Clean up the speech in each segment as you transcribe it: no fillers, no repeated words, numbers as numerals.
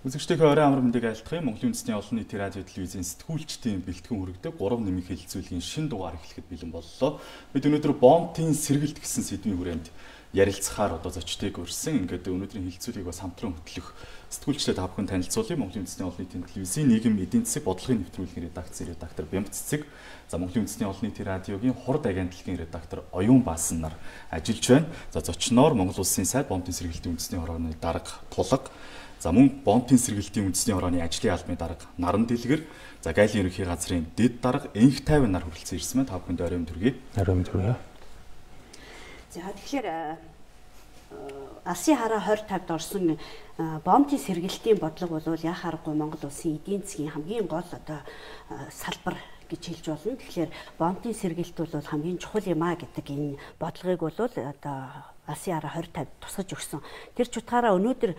Үзэгчдийнхээ орой амар мэндийг айлтгая. Монголын үндэсний олон нийтийн радио телевизийн сэтгүүлчдийн бэлтгэн хүргэдэг 3 нэмийн хэлэлцүүлгийн шинэ дугаар эхлэхэд бэлэн боллоо. Бид өнөөдөр бомбын сэргэлт гэсэн сэдвийн хүрээнд ярилцахаар зочдыг урьсан. Ингээд өнөөдрийн хэлэлцүүлгийг бас хамтран хөтлөх сэтгүүлчдээ та бүхэн танилцуулъя. Монголын үндэсний олон нийтийн телевизийн нийгэм эдийн засаг бодлогын нэвтрүүлгийн редактор Бямб Цэцэг, за Монголын үндэсний олон нийтийн радиогийн хурд агентлагийн редактор Оюун Баасан нар ажиллаж байна. За зочноор Монгол Улсын сайд бомбын сэргэлтийн үндэсний хорооны дарга Тулга, за мөн бомбын сэргэлтийн үндэсний хорооны ажлын албаны дарга Наран Дэлгэр, за Гайлын ерөнхий газрын дэд дарга Энх 50 нар хүрэлцэн ирсэн байна. Та бүхэнд оройн төргий. Оройн төргий. За тэгэхээр Алсын хараа 2050-д орсон бомбын сэргэлтийн бодлого бол яа харахгүй Монгол Улсын эдийн засгийн хамгийн гол салбар гэж хэлж болно. Тэгэхээр бомбын сэргэлт бол хамгийн чухал юм а гэдэг энэ бодлогыг бол Алсын хараа 2050 тусгаж өгсөн. Тэр ч утгаараа өнөөдөр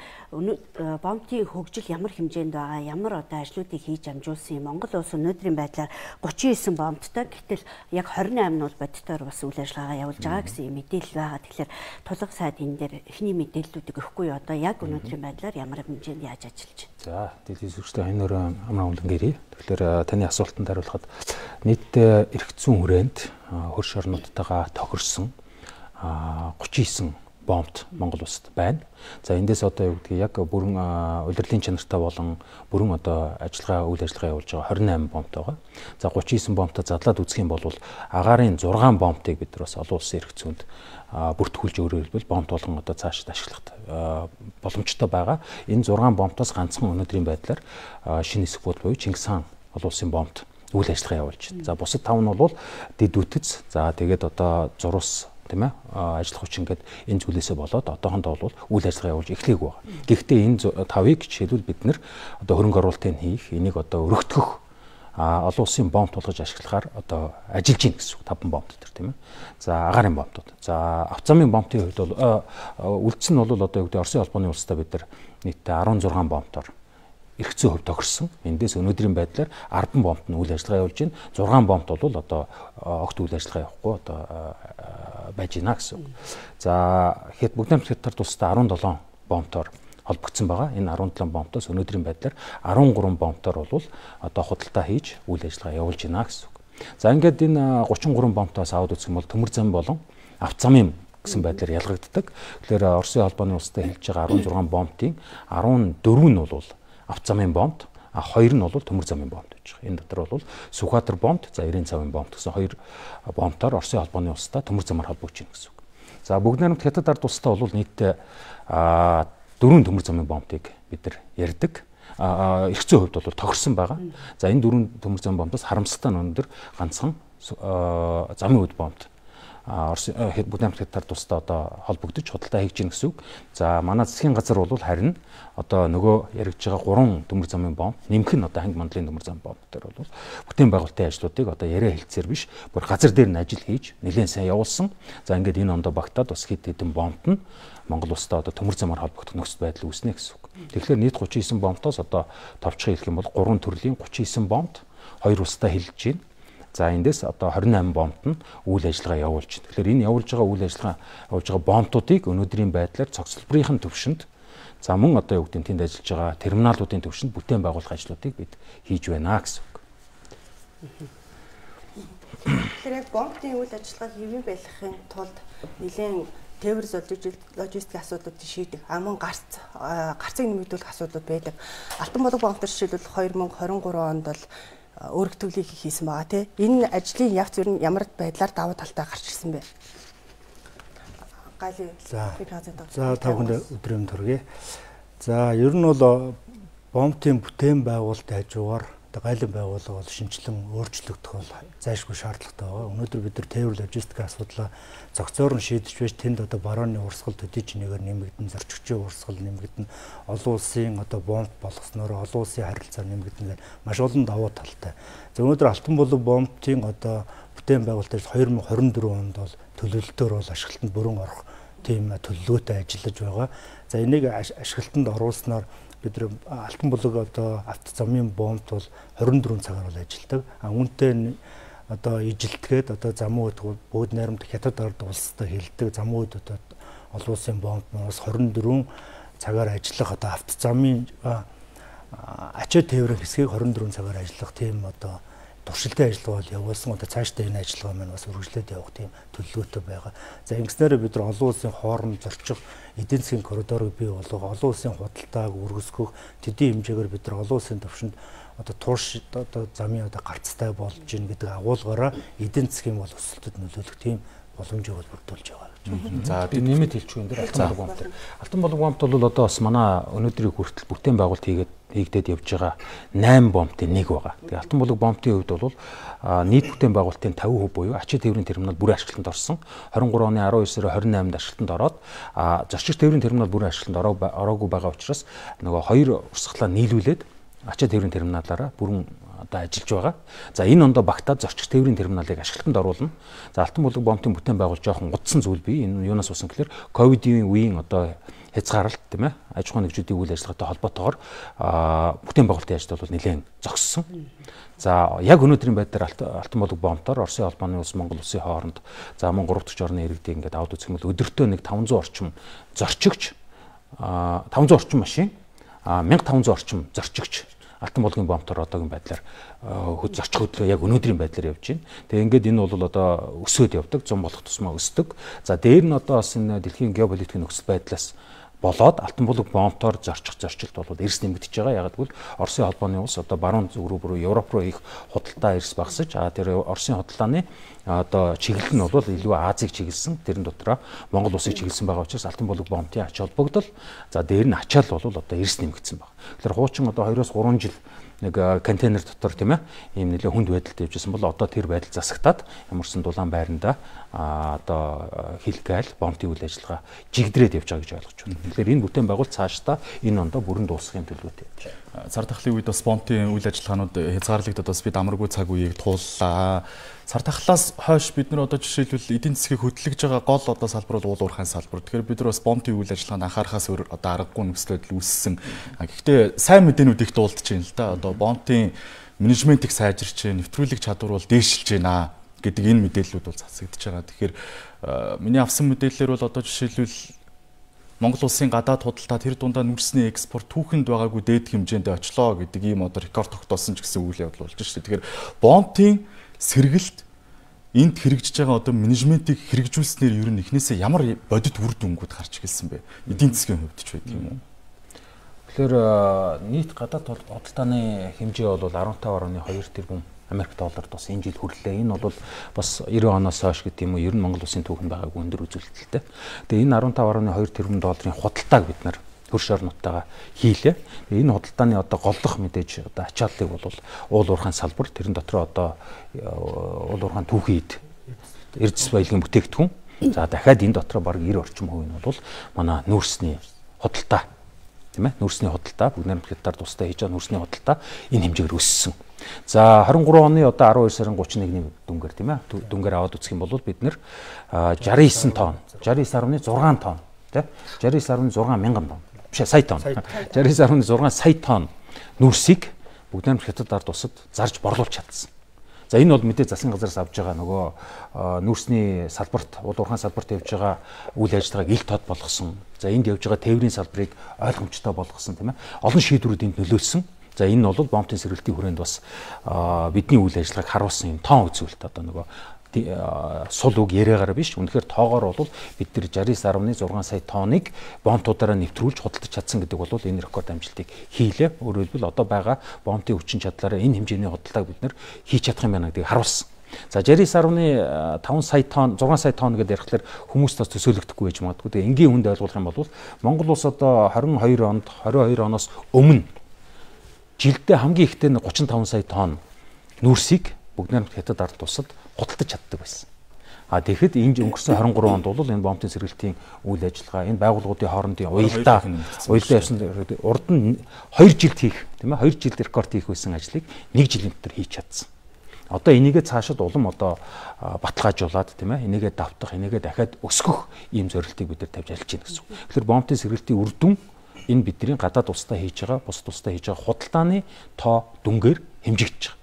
бомбын хөгжил ямар хэмжээнд байгаа, ямар ажлуудыг хийж амжуулсан юм. Монгол улс өнөөдрийн байдлаар 39 бомбтой, гэтэл яг 28 нь бол бодитоор бас үйл ажиллагаа явуулж байгаа гэсэн мэдээлэл байгаа. Тэгэхээр Тулга сайд энэ дээр эхний мэдээллүүдийг өгөхгүй одоо яг өнөөдрийн байдлаар ямар хэмжээнд яаж ажиллаж байна. За, дэлхийн сүрчтэй энэ өрөө амраа уулан гэрээ. Тэгэхээр таны асуултанд хариулахад нийт эрх зүйн хүрээнд хөрш орнуудтайгаа тохирсон 39 бомбт Монгол улсад байна. За эндээс одоо юу гэдгийг яг бүрэн удирдлын чанартай болон бүрэн одоо үйл ажиллагаа явуулж байгаа 28 бомбт байгаа. За 39 бомбтой задлаад үзэх юм бол агаарын 6 бомбтыг бид нар бас олон улсын эрх зүйнд бүртгүүлж өөрөөр хэлбэл бомб болгон одоо цаашид ашиглах боломжтой байгаа. Энэ 6 бомбтоос ганцхан өнөөдрийн байдлаар шинэ хэсэг бод буюу Чингис хаан олон улсын бомбт үйл ажиллагаа явуулж байна. За бусад 5 нь бол дэд үтц, за тэгээд одоо зурус тийм ээ ажиллах хүчин гэдэг энэ зүйлээсээ болоод одоохондоо бол үйл ажиллагаа явуулж эхлэх байгаа. Гэхдээ энэ 5-ыг жишээлбэл бид нэр одоо хөрөнгө оруулалтыг хийх, энийг одоо өргөтгөх олон улсын бомб тулгаж ашиглахаар одоо ажиллаж гин гэсэн үг 5 бомб төр тийм ээ. За агаарын бомбтууд. За авцамын бомбын хувьд бол үлдсэн нь бол одоо юу гэдэг Оросын холбооны улстай бид нар нийтдээ 16 бомбтоор эрх зүйн хувьд тохирсон. Эндээс өнөөдрийн байдлаар 10 бомбт нь үйл ажиллагаа явуулж байна. 6 бомбт бол одоо огт үйл ажиллагаа явахгүй одоо байж гинэ гэсэн үг. За хэд бүгд найрамд хятад тусдаа 17 бомбтоор холбогдсон байгаа. Энэ 17 бомбтоос өнөөдрийн байдлаар 13 бомбтоор бол одоо худалдаа хийж үйл ажиллагаа явуулж гинэ гэсэн үг. За ингээд энэ 33 бомбтоос аваад үзэх юм бол төмөр зам болон авцамын гэсэн байдлаар ялгагддаг. Тэгэхээр Оросын холбооны улстай хэлж байгаа 16 бомбтын 14 нь бол авцамын бомб, 2 нь бол төмөр замын бомб гэж байна. Энэ дотор бол Сүхбаатар бомб, за 90 цавын бомб гэсэн 2 бомбтоор Оросын холбооны улстай төмөр замаар холбогдож байна гэсэн үг. За бүгд найрамд хятад ард улстай бол нийтдээ 4 төмөр замын бомбыг бид нар ярьдаг. Эрх зүйн хувьд бол тохирсон байгаа. За энэ 4 төмөр замын бомбоос харамсалтай нь өндөр ганцхан замын үд бомб бүгд найрамд хятад тусдаа одоо холбогдож худалдаа хийж гин гэсэн үг. За манай засгийн газар бол харин одоо нөгөө яригдж байгаа 3 төмөр замын бомб нэмэх нь одоо ханги мандлын төмөр замын бомб дээр бол бүтээн байгуулалтын ажлуудыг одоо яриа хэлцээр биш бүр газар дээр нь ажил хийж нэлээд сайн явуулсан. За ингээд энэ ондоо багтаад бас хэд хэдэн бомбт нь Монгол улстай одоо төмөр замаар холбогдох нөхцөл байдал үүснэ гэсэн үг. Тэгэхээр нийт 39 бомбтоос одоо товчхон хэлэх юм бол 3 төрлийн 39 бомбт 2 улстай хэлж байна. За эндээс одоо 28 бомбт нь үйл ажиллагаа явуулж байна. Тэгэхээр энэ явуулж байгаа үйл ажиллагаа явуулж байгаа бомбтуудыг өнөөдрийн байдлаар цогцлборын төвшөнд за мөн одоо юу гэдэг нь тэнд ажиллаж байгаа терминалуудын төвшөнд бүтээн байгуулах ажлуудыг бид хийж байна гэсэн үг. Тэгэхээр яг бомбын үйл ажиллагааг хэвэн байлгахын тулд нэлээд тээвэр логистик асуудлуудыг шийдэх, мөн гарцыг нэмэгдүүлэх асуудлууд байдаг. Алтан болог бомб төр жишээлбэл 2023 онд бол өргөтгөлийг хийсэн байгаа тийм. Энэ ажлын явц ер нь ямар байдлаар давуу талтай гарч ирсэн бэ? Гайлын. За та бүхэнд өдрийн төргий. За ер нь бол бомбын бүтээн байгуулалтын хажуугаар гайлын байгууллага бол шинжилэн өөрчлөгдөх бол зайлшгүй шаардлагатай байгаа. Өнөөдөр бид нар тээвэр логистик асуудлаа зохицоор нь шийдэж байж тэнд одоо барооны урсгал төдий чинээгээр нэмэгдэн, зорчигчийн урсгал нэмэгдэн, олон улсын одоо бомб болгосноор олон улсын харилцаа нэмэгдэн маш олон давуу талтай. За өнөөдөр Алтан болог бомбын одоо бүтээн байгуулалтаас 2024 онд бол төлөвлөлтөөр бол ашиглалтанд бүрэн орох тийм төлөвлөгөөтэй ажиллаж байгаа. За энийг ашиглалтанд оруулснаар бид нар Алтан болог одоо автозамын бомбт бол 24 цагаар бол ажилладаг. Үүнтэй одоо ижилтгээд одоо замын үед бүгд найрамд хятад ард улстай хэлдэг замын үед одоо олон улсын бомб бас 24 цагаар ажиллах одоо автозамын ачаа тээврийн хэсгийг 24 цагаар ажиллах тийм одоо туршилтын ажиллагаа бол явуулсан. Одоо цаашдаа энэ ажиллагаа маань бас үргэлжлээд явах тийм төлөвлөгөөтэй байгаа. За ингэснээр бид нар олон улсын хооронд зорчих эдийн засгийн коридорыг бий болгох, олон улсын худалдааг үргэлжлүүлэх төдий хэмжээгээр бид нар олон улсын төвшөнд одоо турш одоо замын одоо гарцтай болж гин гэдэг агуулгаараа эдийн засгийн бол өсөлтөд нөлөөлөх тийм боломжийг бол бүрдүүлж байгаа. За би нэмэт хэлчихвэн дээр Алтан болог бомб бол одоо бас манай өнөөдрийн хүртэл бүтээн байгуулалт хийгдээд явж байгаа 8 бомбын нэг байгаа. Тэгээ Алтан болог бомбын хувьд бол нийт бүтээн байгуулалтын 50% буюу ачаа тээврийн терминал бүрэн ашиглалтанд орсон. 23 оны 12 сарын 28-нд ашиглалтанд ороод зорчигч тээврийн терминал бүрэн ашиглалтанд ороогүй байгаа учраас нөгөө хоёр урсгалаа нийлүүлээд ачаа тээврийн терминалаараа бүрэн одоо ажиллаж байгаа. За энэ ондоо багтаад зорчигч тээврийн терминалыг ашиглалтанд оруулна. За Алтан болог бомбын бүтээн байгуулалт жоохон гутсан зүйл бий. Энэ юунаас усан гэхээр ковидын үеийн одоо хязгаарлалт тийм ээ аж ахуйн нэгжүүдийн үйл ажиллагаатай холбоотойгоор бүтээн байгуулалтын ажил бол нэлээд зогссон. За яг өнөөдрийн байдлаар Алтан болог бомбоор Оросын холбооны улс Монгол улсын хооронд за мөн 3 дахь орны иргэдийг ингээд аваад үзэх юм бол өдөртөө нэг 500 орчим зорчигч 500 орчим машин 1500 орчим зорчигч Алтан болгийн бомбтор одоогийн байдлаар зорчих хөдлөө яг өнөөдрийн байдлаар явж байна. Тэгээ ингээд энэ бол одоо өсөөд явдаг, 100 болох тусмаа өсдөг. За дээр нь одоо бас энэ дэлхийн геополитикийн нөхцөл байдлаас болоод Алтан болог бомбтор зорчих зорчилт бол эрс нэмэгдэж байгаа. Яг гэвэл Оросын холбооны улс одоо баруун зүг рүү Европ руу их худалдаа эрс багасж тэр Оросын худалдааны одоо чиглэл нь бол илүү Азийг чиглэсэн. Тэрэн дотроо Монгол улсыг чиглэсэн байгаа учраас Алтан болог бомбын ач холбогдол за дээр нь ачаал бол одоо эрс нэмэгдсэн байна. Тэгэхээр хуучин одоо 2-3 жил нэг контейнер дотор тийм ээ ийм нэлээд хүнд байдалтай явжсэн бол одоо тэр байдал засагтаад ямарсан дулаан байранда одоо хилгээл бомбын үйл ажиллагаа жигдрээд явж байгаа гэж ойлгож байна. Тэгэхээр энэ бүтээн байгуулалт цаашдаа энэ ондоо бүрэн дуусгахын төлөвтэй явж байна. Цар тахлын үед бас бомбын үйл ажиллагаанууд хязгаарлагдаад бас бид амаргүй цаг үеийг тууллаа. Цар тахлаас хойш бид нар одоо жишээлбэл эдийн засгийг хөдөлгөж байгаа гол одоо салбар бол уул уурхайн салбар. Тэгэхээр бид нар бас бомбын үйл ажиллагаанд анхаарахаас өөр одоо аргагүй нөхцөл байдал үүссэн. Гэхдээ сайн мэдээнүүд их дуулдаж байна л да. Одоо бомбын менежментийг сайжирч, нэвтрүүлэх чадвар бол дээшилж байна гэдэг энэ мэдээллүүд бол засагдж байгаа. Тэгэхээр миний авсан мэдээллээр бол одоо жишээлбэл Монгол улсын гадаад худалдаа тэр дундаа нүрсний экспорт түүхэнд байгаагүй дээд хэмжээнд очлоо гэдэг ийм одоо рекорд тогтоосон ч гэсэн үйл явдал болж шүү дээ. Тэгэхээр бомбын сэргэлт энд хэрэгжиж байгаа одоо менежментийг хэрэгжүүлснээр ер нь эхнээсээ ямар бодит үр дүнгууд гарч ирсэн бэ? Эдийн засгийн хувьд ч байдаг юм уу? Тэгэхээр нийт гадаад худалдааны хэмжээ бол 15.2 тэрбум Америк долларт бас энэ жил хүрлээ. Энэ бол бас 90 оноос хойш гэдэг юм уу ер нь Монгол улсын түүхэнд байгаагүй өндөр үзүүлэлттэй. Тэгээ энэ 15.2 тэрбум долларын худалдааг бид нар хөрш орнуудтайгаа хийлээ. Энэ худалдааны одоо голлох мэдээж одоо ачааллыг бол уул уурхайн салбар тэрэн дотор одоо уул уурхайн түүхийд эрдэс баялагын бүтээгдэхүүн. За дахиад энэ дотор бараг 90 орчим хувь нь бол манай нүүрсний худалдаа тийм ээ нүүрсний худалдаа бүгд найрамдлагатаар тусдаа хийж байгаа нүүрсний худалдаа энэ хэмжээгээр өссөн. За 23 оны одоо 12 сарын 31-ний дүнгээр тийм ээ дүнгээр аваад үзэх юм бол бид нэр 69 тонн 69.6 тонн тийм 69.6 мянган тонн биш сая тонн 69.6 сая тонн нүүрсийг бүгд найрамдлагатад ард тусад зарж борлуулж чадсан. За энэ бол мэдээ засгийн газараас авж байгаа нөгөө нүүрсний салбарт уул уурхайн салбарт явж байгаа үйл ажиллагааг ил тод болгосон. За энд явж байгаа тээврийн салбарыг ойлгомжтой болгосон тийм ээ. Олон шийдвэрүүд энд нөлөөлсөн. За энэ бол бомбын сэргэлтийн хүрээнд бас бидний үйл ажиллагааг харуулсан юм тоон үзүүлэлт одоо нөгөө сул үг яриагаар биш үнэхээр тоогоор бол бид нар 69.6 сая тонныг бомбуудаараа нэвтрүүлж худалдаж чадсан гэдэг бол энэ рекорд амжилтыг хийлээ. Өөрөөр хэлбэл одоо байгаа бомбын хүчин чадлаараа энэ хэмжээний худалдааг бид нар хийж чадах юм байна гэдгийг харуулсан. За 69.5 сая тонн 6 сая тонн гэдээ ярихлаар хүмүүс бас төсөөлөгдөхгүй байж магадгүй. Тэгээ энгийн хүнд ойлгох юм бол Монгол улс одоо 22 оноос өмнө жилдээ хамгийн ихтэй 35 сая тонн нүүрсийг бүгд найрамд хятад ард тусад худалдаж чаддаг байсан. Тэгэхэд энэ өнгөрсөн 23 онд бол энэ бомбын сэргэлтийн үйл ажиллагаа энэ байгууллагуудын хоорондын уялдаа явсан урд нь 2 жилд хийх тийм ээ 2 жилд рекорд хийх байсан ажлыг 1 жилийн дотор хийж чадсан. Одоо энийгээ цаашид улам одоо баталгаажуулаад тийм ээ энийгээ давтах энийгээ дахиад өсгөх ийм зорилтыг бид нар тавьж ажиллаж байна гэсэн үг. Тэгэхээр бомбын сэргэлтийн үр дүн энэ бидний гадаад улстай хийж байгаа бусад улстай хийж байгаа худалдааны тоо дүнгээр хэмжигдэж байгаа.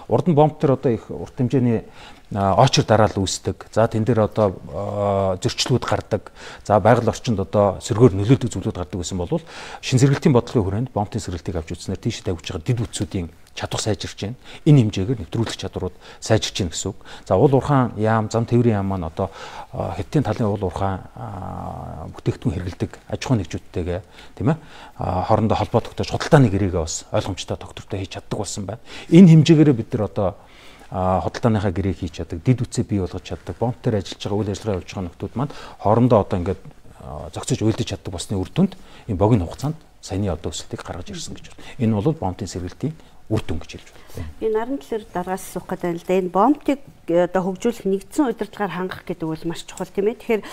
Урд нь бомб төр одоо их урт хэмжээний очир дараал үүсдэг. За тэн дээр одоо зөрчлүүд гардаг. За байгаль орчинд одоо сөргөөр нөлөөлдөг зүйлүүд гардаг гэсэн бол шин сэргэлтийн бодлогын хүрээнд бомбын сэргэлтийг авч үзснээр тийш тавьж байгаа дид үтсүүдийн чадвар сайжирч байна. Энэ хэмжээгээр нэвтрүүлэх чадварууд сайжирч байна гэсэн үг. За уул уурхаан яам, зам тээврийн яам маань одоо Хятадын талын уул уурхаан бүтээгдэхүүн хэрэглэдэг аж ахуйн нэгжүүдтэйгээ тийм ээ хоорондоо холбоо тогтоож худалдааны гэрээгээ бас ойлгомжтой тогтвортой хийж чаддаг болсон байна. Энэ хэмжээгээр бид нар одоо худалдааныхаа гэрээг хийж чаддаг, дид үтсээ бий болгож чаддаг, бомб дээр ажиллаж байгаа үйл ажиллагаа явуулж байгаа нөхдүүд маань хоорондоо одоо ингээд зохицож уйлдаж чаддаг болсны үр дүнд энэ богино хугацаанд саяны одоо өсөлтийг гаргаж ирсэн гэж байна. Энэ бол бомбын сэргэлтийн үр дүн гэж хэлж байна. Би наран талаар дараагаас асуух гэдэг нь л да энэ бомбыг одоо хөгжүүлэх нэгдсэн удирдлагаар хангах гэдэг бол маш чухал тийм ээ. Тэгэхээр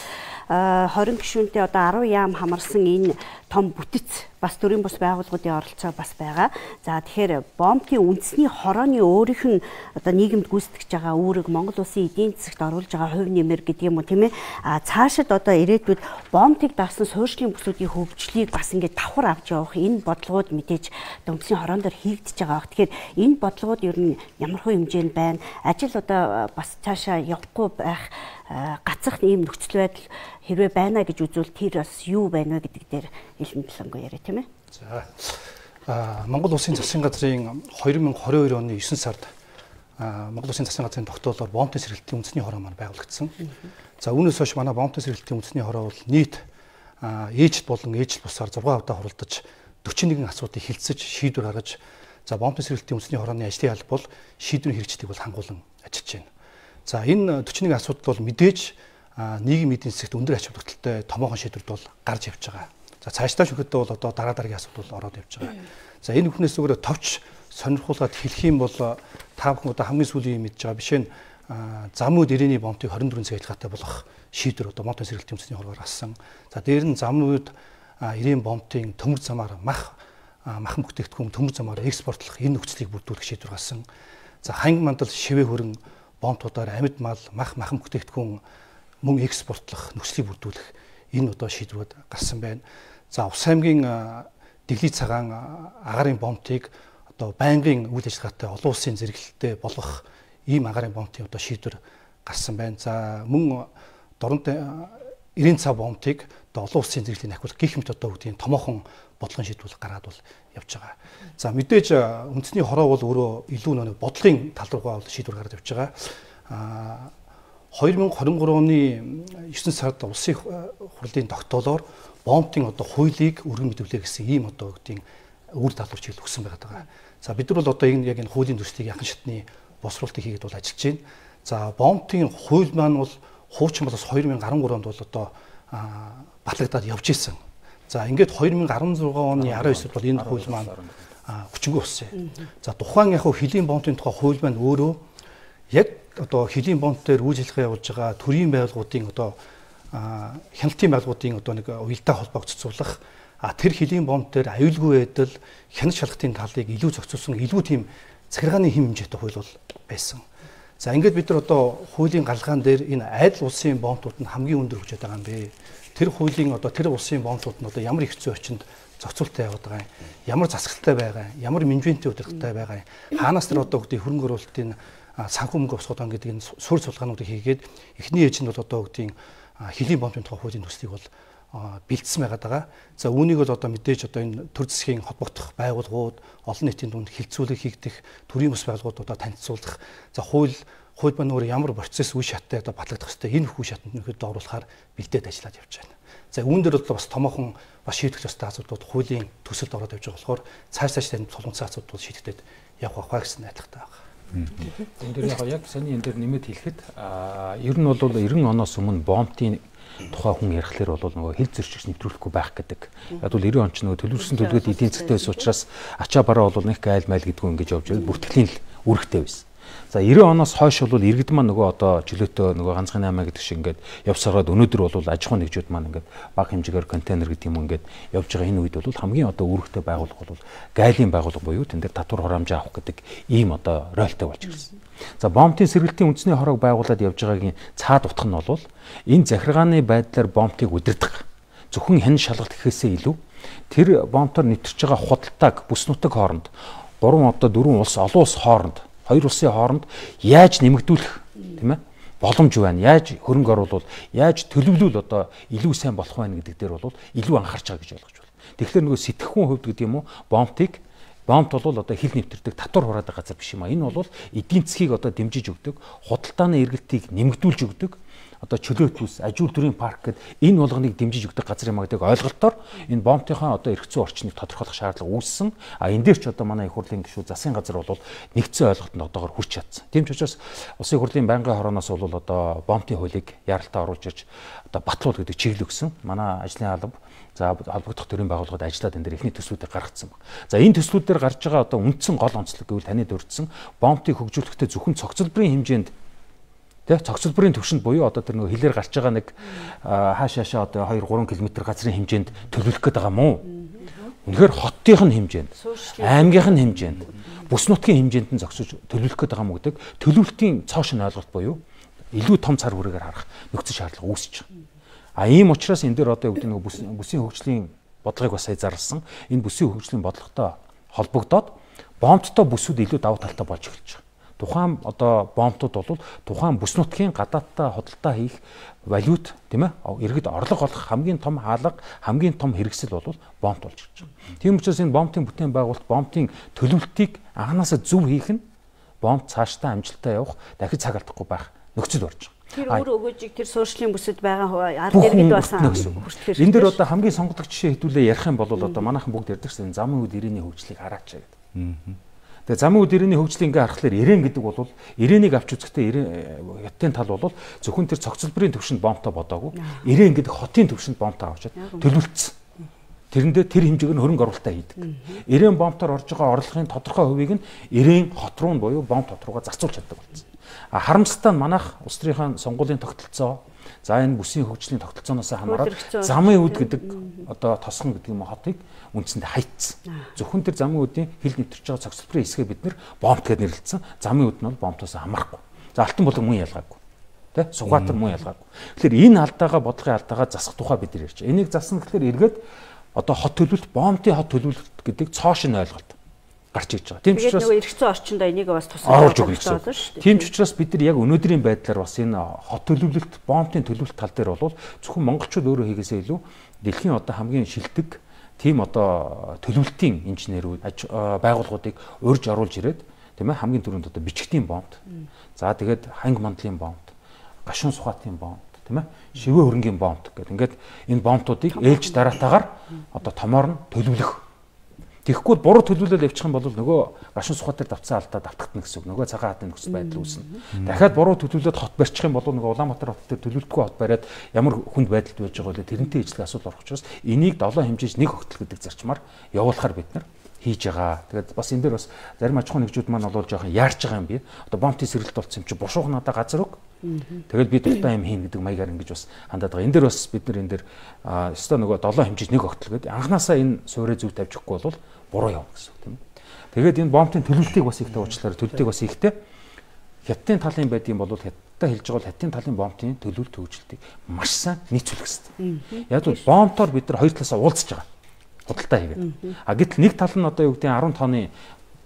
20 гишүүнтэй одоо 10 яам хамарсан энэ том бүтэц бас төрийн бус байгууллагуудын оролцоо бас байгаа. За тэгэхээр бомбын үндэсний хорооны өөрийнх нь одоо нийгэмд гүйцэтгэж байгаа үүрэг Монгол улсын эдийн засагт оруулж байгаа хувь нэмэр гэдэг юм уу тийм ээ. Цаашид одоо ирээдүйд бомбыг даасан суурьшлийн бүсүүдийн хөгжлийг бас ингээд давхар авч явах энэ бодлогууд мэдээж үндэсний хороон дээр хийгдэж байгаа. Тэгэхээр энэ бодлогууд ер нь ямар хөө хэмжээнд байна? Ажил одоо бас цаашаа явахгүй байх гацах ийм нөхцөл байдал хэрвээ байна гэж үзвэл тэр бас юу байна вэ гэдэг дээр илэн талангүй яриа тийм ээ. За Монгол Улсын засгийн газрын 2022 оны 9 сард Монгол Улсын засгийн газрын тогтоолоор бомбын сэргэлтийн үндэсний хороо маань байгуулагдсан. За үүнээс хойш манай бомбын сэргэлтийн үндэсний хороо бол нийт ээжл болон ээжл бусаар 6 удаа хуралдаж 41 асуудлыг хилцэж шийдвэр гаргаж за бомбын сэргэлтийн үндэсний хорооны ажлын алба бол шийдвэрийн хэрэгжлийг бол хангуулan ажиллаж байна. За энэ 41 асуудал бол мэдээж нийгмийн эдийн засагт өндөр ач холбогдолтой томоохон шийдвэрд бол гарч явж байгаа. За цаашдаа шүхэдээ бол одоо дараагийн асуудал ороод явж байгаа. За энэ бүхнээс өөрөө товч сонирхуулаад хэлэх юм бол та бүхэн одоо хамгийн сүүлийн мэдж байгаа бишээ замууд ирээний бомбыг 24 цаг ажиллагаатай болгох шийдвэр одоо бомбын сэргэлтийн үндэсний хороор гарсан. За дээр нь замууд ирээн бомбын төмөр замаар махан бүтээгдэхүүн төмөр замаар экспортлох энэ нөхцөлийг бүрдүүлэх шийдвэр гарсан. За ханг мандал шивээ хөрөн бомбуудаар амьд мал махан бүтээгдэхүүн мөн экспортлох нөхцөлийг бүрдүүлэх энэ одоо шийдвэрүүд гарсан байна. За Ус аймгийн Дэглий цагаан агаарын бомбыг одоо байнгын үйл ажиллагаатай олон улсын зэрэглэлтэй болгох ийм агаарын бомбын одоо шийдвэр гарсан байна. За мөн дорнод эрийн цав бомбыг одоо олон улсын зэрэглэлийн ахиулах гэх мэт одоо үгдийн томоохон бодлогын шийдвэр гаргаад бол явж байгаа. За мэдээж үндэсний хороо бол өөрөө илүү нэг бодлогын тал руугаа бол шийдвэр гаргаж явж байгаа. 2023 оны 9 сард улсын хурлын тогтоолоор бомбын одоо хуулийг өргөн мэдүүлээ гэсэн ийм одоо үгдийн үр даалгавар чиглэл өгсөн байгаа. За бид нар бол одоо яг энэ хуулийн төслийг яхан шатны босруулалтыг хийгээд бол ажиллаж байна. За бомбын хууль маань бол хуучин болоос 2013 онд бол одоо батлагдаад явж исэн. За ингээд 2016 оны 19-нд бол энэ хууль маань хүчингүй болсон. За тухайн яг хөлийн бомбын тухай хууль маань өөрөө яг одоо хөлийн бомб дээр үйл ажиллагаа явуулж байгаа төрийн байгууллагуудын одоо хяналтын байгууллагуудын одоо нэг уялдаа холбоог цуцуулах тэр хөлийн бомб дээр аюулгүй байдал хяналт шалгалтын талыг илүү зохицуулсан илүү тийм захиргааны хэм хэмжээтэй хууль бол байсан. За ингээд бид нар одоо хуулийн гаралгаан дээр энэ айдал улсын бомбууд нь хамгийн өндөр хүчтэй байгаа юм бэ. Тэр хуулийн одоо тэр улсын бомбууд нь одоо ямар их зүй орчинд зохицуулттай яваад байгаа юм. Ямар засаглалтай байгаа юм. Ямар менежментийн удирдлагатай байгаа юм. Хаанаас тэр одоо үгдийн хөрөнгө оруулалтын санхүү мөнгө босгоод гэдэг энэ суурь сулгаануудыг хийгээд эхний ээж нь бол одоо үгдийн хөлийн бомбын тухай хуулийн төслийг бол бэлдсэн байгаа. За үүнийг бол одоо мэдээж одоо энэ төр засгийн холбогдох байгууллагууд олон нийтийн дунд хилцүүлэг хийгдэх төрийн бас байгууллагууд одоо танилцуулах. За хууль маань өөр ямар процесс үе шаттай одоо батлагдах хэвээр энэ үе шатанд нөхөд оруулахаар бэлдээд ажиллаад явж байна. За үүн дээр бол бас томоохон бас шийдэх ёстой асуудлууд хуулийн төсөлд ороод явж байгаа болохоор цааш тань тулгымцсан асуудал шийдэгдээд явах байх гэсэн найдвартай байна. Энэ дээр яг саний энэ дээр нэмэт хэлэхэд ер нь бол 90 оноос өмнө бомбын тухай хүн ярихлаар бол нөгөө хил зөрчигч нэвтрүүлэхгүй байх гэдэг. Яг бол 90 он ч нөгөө төлөвлөсөн төлөвлөгөөд эдийн засгтай байсан учраас ачаа бараа бол нэг айл майл гэдгүү ингэж явж байгаад бүртгэлийн л үүрэгтэй байсан. За 90 оноос хойш бол иргэд маань нөгөө одоо чөлөөтэй нөгөө ганцхан 8 гэдэг шиг ингээд явсараад өнөөдөр бол аж ахуйн нэгжүүд маань ингээд бага хэмжээгээр контейнер гэдэг юм ингээд явж байгаа энэ үед бол хамгийн одоо үүрэгтэй байгууллага бол гайлын байгууллага буюу тэн дээр татвар хураамжаа авах гэдэг ийм одоо ройлтой болж ирсэн. За бомбын сэргэлтийн үндэсний хорог байгуулад явж байгаагийн цаад утга нь бол энэ захиргааны байдлаар бомбыг удирдах зөвхөн хэн шалгалт гэхээсээ илүү тэр бомбоор нэвтэрч байгаа худалдааг бүс нутаг хооронд 3 одоо 4 улс олон улс хооронд Хоёр улсын хооронд яаж нэмэгдүүлэх тийм ээ боломж байна. Яаж хөрөнгө оруулах, яаж төлөвлөл одоо илүү сайн болох байна гэдэг дээр бол илүү анхаарч байгаа гэж ойлгож байна. Тэгэхээр нөгөө сэтгэхүйн хувьд гэдэг юм уу бомб бол одоо хил нэвтэрдэг татвар хураадаг газар биш юм а. Энэ бол эдийн засгийг одоо дэмжиж өгдөг, худалдааны эргэлтийг нэмэгдүүлж өгдөг. Одоо чөлөөт ус, ажил төрийн парк гэдэг энэ болгоныг дэмжиж өгдөг газар юм а гэдэг ойлголтоор энэ бомбтынхаа одоо эрх зүйн орчныг тодорхойлох шаардлага үүссэн. А энэ дээр ч одоо манай их хурлын гишүүд засгийн газар бол нэгдсэн ойлголтод одоогоор хүрч чадсан. Тийм ч учраас улсын хурлын байнгын хорооноос бол одоо бомбтын хуулийг яралтаа оруулж ирж одоо батлуул гэдэг чиглэл өгсөн. Манай ажлын алба за холбогдох төрийн байгууллагууд ажиллаад энэ дээр ихний төслүүдийг гаргацсан баг. За энэ төслүүдээр гарч байгаа одоо үндсэн гол онцлог гэвэл таны дурдсан бомбтыг хөгжүүлэхдээ зөвхөн цогцлбарын хэмжээнд цогцлбарын төвшөнд буюу одоо тэр нөгөө хилээр гарч байгаа нэг хаашаашаа одоо 2-3 км газрын хэмжээнд төлөвлөх гээд байгаа мó. Үнэхээр хотынх нь хэмжээнд, аймгийнх нь хэмжээнд, бүс нутгийн хэмжээнд нь зогсож төлөвлөх гээд байгаа мó гэдэг төлөвлөлтийн цоошин ойлголт буюу илүү том цар хүрээгээр харах нөхцөл шаардлага үүсэж байгаа. А ийм учраас энэ дээр одоо юу гэдэг нөгөө бүсийн хөгжлийн бодлогыг бас сая зарласан. Энэ бүсийн хөгжлийн бодлоготой холбогдоод бомбттой бүсүүд илүү давуу талтай болж эхэлж байгаа. Тухайн одоо бомбтууд бол тухайн бүс нутгийн гадаадтай худалдаа хийх валют тийм ээ иргэд орлого олох хамгийн том хаалга, хамгийн том хэрэгсэл бол бомбт болж ирж байгаа. Тийм учраас энэ бомбтын бүтээн байгуулалт бомбтын төлөвлөлтийг анханасаа зөв хийх нь бомб цаашдаа амжилттай явах дахид цаг алдахгүй байх нөхцөл болж байгаа. Тэр өөр өгөөжийг тэр суурьшлийн бүсэд байгаа ард иргэд басан хүртэл. Энэ дээр одоо хамгийн сонгодог жишээ хэдүүлээ ярих юм бол одоо манайхан бүгд ярьдаг гэсэн замын үед ирээний хөгжлийг хараач гэдэг. Тэгээ замын үед ирээний хөгжлийг ингээ харахаар ирээн гэдэг бол ирээнийг авч үзэхдээ хятадын тал бол зөвхөн тэр цогцлбарын төвшөнд бомбтой бодоогүй. Ирээн гэдэг хотын төвшөнд бомбтой авчаад төлөвлөлтсөн. Тэрэндээ тэр хэмжээгээр хөрөнгө оруулалтаа хийдэг. Ирээн бомбтоор орж байгаа орлогын тодорхой хувийг нь ирээн хот руу буюу бомб хот руугаа зарцуулж чаддаг болсон. А харамсалтай нь манайх улс төрийн сонгуулийн тогтолцоо за энэ бүсийн хөгжлийн тогтолцооноос хамаарат замын үд гэдэг одоо тосгон гэдэг юм хотыг үндсэндээ хайцсан. Зөвхөн тэр замын үдийн хил нэвтэрч байгаа цогцлбарын хэсгээ бид нэр бомб гэдгээр нэрлэлсэн. Замын үд нь бол бомбтоос хамаарахгүй. За алтан булаг мөн ялгаагүй. Тэ? Сугаатар мөн ялгаагүй. Тэгэхээр энэ алдаагаа бодлогын алдаагаа засах тухай бид нар ярьж байгаа. Энийг засна гэхээр эргээд одоо хот төлөвлөлт, бомбтын хот төлөвлөлт гэдэг цоошин ойлголт гарч иж байгаа. Тийм ч учраас нөгөө эрх зүйн орчинд энийг бас тусгаж өгөх болно шүү дээ. Тийм ч учраас бид нар яг өнөөдрийн байдлаар бас энэ хот төлөвлөлт, бомбтын төлөвлөлт тал дээр бол зөвхөн монголчууд өөрөө хийгээсээ илүү дэлхийн одоо хамгийн шилдэг тийм одоо төлөвлөлтийн инженерүүд байгууллагуудыг урьж оруулж ирээд тийм ээ хамгийн түрүүнд одоо бичгтийн бомбт. За тэгээд ханг мандлын бомбт, гашуун сухатын бомбт, тийм ээ шивээ хөрөнгийн бомбт гэдэг. Ингээд энэ бомбтуудыг ээлж дараатаагаар одоо томоор нь төлөвлөх. Тэгэхгүй буруу төлөвлөлөд явчих юм бол нөгөө гашуун сухатаар давцсан алдаа давтагдана гэсэн үг. Нөгөө цагаан хатны нөхцөл байдал үүснэ. Дахиад буруу төлөвлөлөд хот барьчих юм бол нөгөө Улаанбаатар хот дээр төлөвлөлтгүй хот бариад ямар хүнд байдалд байж байгаа вэ? Тэрнтэй ижлэг асуудал орох учраас энийг 7 хэмжээж нэг хогтол гэдэг зарчмаар явуулахаар бид нар хийж байгаа. Тэгээд бас энэ дээр бас зарим аж ахуйн нэгжүүд маань бол жоохон яарч байгаа юм би. Одоо бомбтын сэргэлт болсон юм чи бушуух надаа газар өг. Тэгээд би дуртай юм хийн гэдэг маягаар ингэж бас хандаад байгаа. Энэ дээр бас бид нар энэ дээр өстой нөгөө 7 хэмжээж нэг хогтол гэдэг. Анханасаа энэ суурийг зөв тавьчихгүй бол буруу явна гэсэн үг тийм. Тэгээд энэ бомбтын төлөвлөлтийг бас ихтэй уучлаарай. Төлөлтийг бас ихтэй хятадын талын байд юм бол хятадтай хэлж байгаа бол хятадын талын бомбтын төлөвлөлт төвчлөлтийг маш сайн нийцүүлэх хэрэгтэй. Яг л бомбтоор бид нар хоёр талаас уулзж байгаа. Худалдаа хийгээд. А гэтэл нэг тал нь одоо юу гэдэг 10 тонны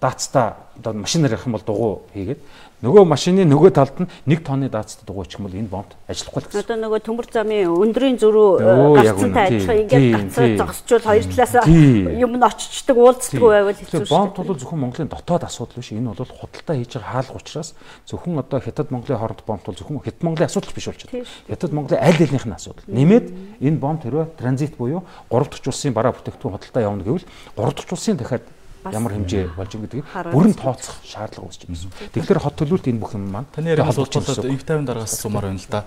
даацтай одоо машинаар явах юм бол дугуй хийгээд нөгөө машины нөгөө талд нь 1 тонны даацтай дугуй ичих юм бол энэ бомб ажиллахгүй л гэсэн. Одоо нөгөө төмөр замын өндрийн зөрүү гацсантай адилхан ингээд гацаа зогсчвол хоёр талаас юм нь очичдаг уулздаг байвал хэцүү шүү дээ. Бомб бол зөвхөн Монголын дотоод асуудал биш. Энэ бол худалдаа хийж байгаа хаалга учраас зөвхөн одоо Хятад Монголын хооронд бомб бол зөвхөн Хятад Монголын асуудал биш болж байна. Хятад Монголын аль алийнх нь асуудал. Нэмээд энэ бомб хэрвээ транзит буюу 3 дахь улсын бараа бүтээгдэхүүн худалдаа явна гэвэл 3 дахь улсын дахиад ямар хэмжээ болж байгаа гэдгийг бүрэн тооцох шаардлага үүсэж байна. Тэгэхээр хот төлөвлөлт энэ бүх юм маань таны яриаг холбоотой ив 50 дараагаас асуумаар байна л да.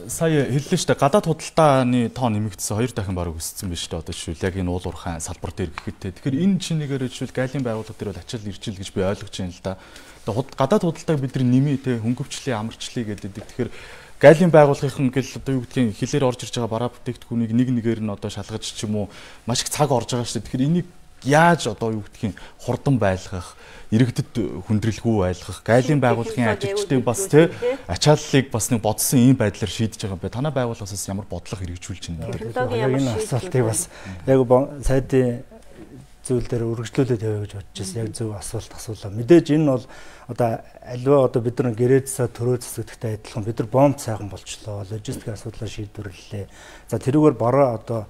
Сая хэллээ шүү дээ. Гадаад худалдааны тоо нэмэгдсэн 2 дахин бараг өссөн биш үү одоо жишээл яг энэ уулуурхайн салбар дээр гэхэд. Тэгэхээр энэ чинээгээр жишээл гайлын байгууллага дээр бол ачаал ирчил гэж би ойлгож байна л да. Гадаад худалдааг бид нар нэмээ те хөнгөвчлээ амарчлээ гэдэг. Тэгэхээр гайлын байгууллагын гэл одоо юу гэдгийг хилээр орж ирж байгаа бараа бүтээгдэхүүнийг нэг нэгээр нь одоо шалгаж ч юм уу маш их цаг орж байгаа шүү дээ. Тэгэхээр энийг яаж одоо юу гэдгийг хурдан байлгах, иргэдэд хүндрэлгүй байлгах, гайлын байгууллагын ажилчдыг бас тий ачааллыг бас нэг бодсон ийм байдлаар шийдэж байгаа юм байна. Танай байгууллагаас ямар бодлого хэрэгжүүлж байна гэдэг. Энэ асуултыг бас яг сайдын зүйл дээр үргэлжлүүлээд явъя гэж бодож байсан. Яг зөв асуулт асуулаа. Мэдээж энэ бол одоо альва одоо бид нар гэрээдсээ төрөө засагдахтай адилхан бид нар бомб сайхан болчлоо. Логистик асуудлаа шийдвэрлэлээ. За тэрүүгээр бараа одоо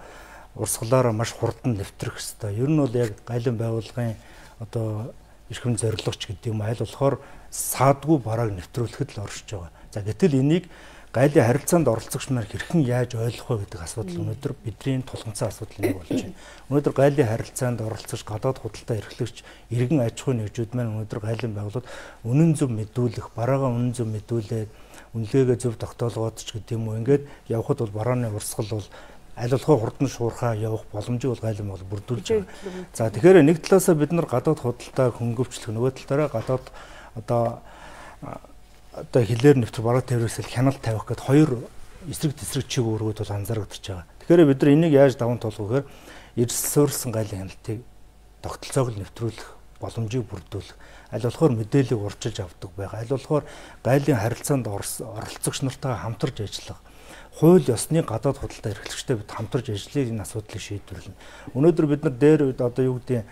урсгалаараа маш хурдан нэвтрэх хэрэгтэй. Ер нь бол яг гайлан байгууллагын одоо эрхэм зорилгоч гэдэг юм аль болохоор саадгүй барааг нэвтрүүлэхэд л оршиж байгаа. За гэтэл энийг гайлын харилцаанд оролцогч нар хэрхэн яаж ойлгох вэ гэдэг асуудал өнөөдөр бидний тулгымцсан асуудал нэг болж байна. Өнөөдөр гайлын харилцаанд оролцогч гадаад худалдаа эрхлэгч иргэн аж ахуйн нэгжүүд маань өнөөдөр гайлын байгууллагууд үнэн зөв мэдүүлэх, бараагаа үнэн зөв мэдүүлээд үнэлгээгээ зөв тогтоолгоод ч гэдэг юм уу ингээд явхад бол барааны урсгал бол аль болох хурдан шуурхаа явах боломжийг бол гайлан бол бүрдүүлж байгаа. За тэгэхээр нэг талаасаа бид нар гадаад худалдааг хөнгөвчлөх, нөгөө талаараа гадаад одоо хилээр нэвтрэх бараа тээврээсэл хяналт тавих гэхэд хоёр эсрэг тесрэг чиг үүргүүд бол анзаарэгдэж байгаа. Тэгэхээр бид нар энийг яаж даван туулах гэхээр эрс суурилсан гайлын хяналтыг тогтолцоог л нэвтрүүлэх боломжийг бүрдүүлэх. Аль болохоор мэдээллийг урьдчилж авдаг байгаа. Аль болохоор гайлын харилцаанд оролцогч нартайгаа хамтарч ажиллах. Хууль ёсны гадаад худалдаа эрхлэгчтэй бид хамтарч ажиллаж энэ асуудлыг шийдвэрлэнэ. Өнөөдөр бид нар дээр одоо юу гэдэг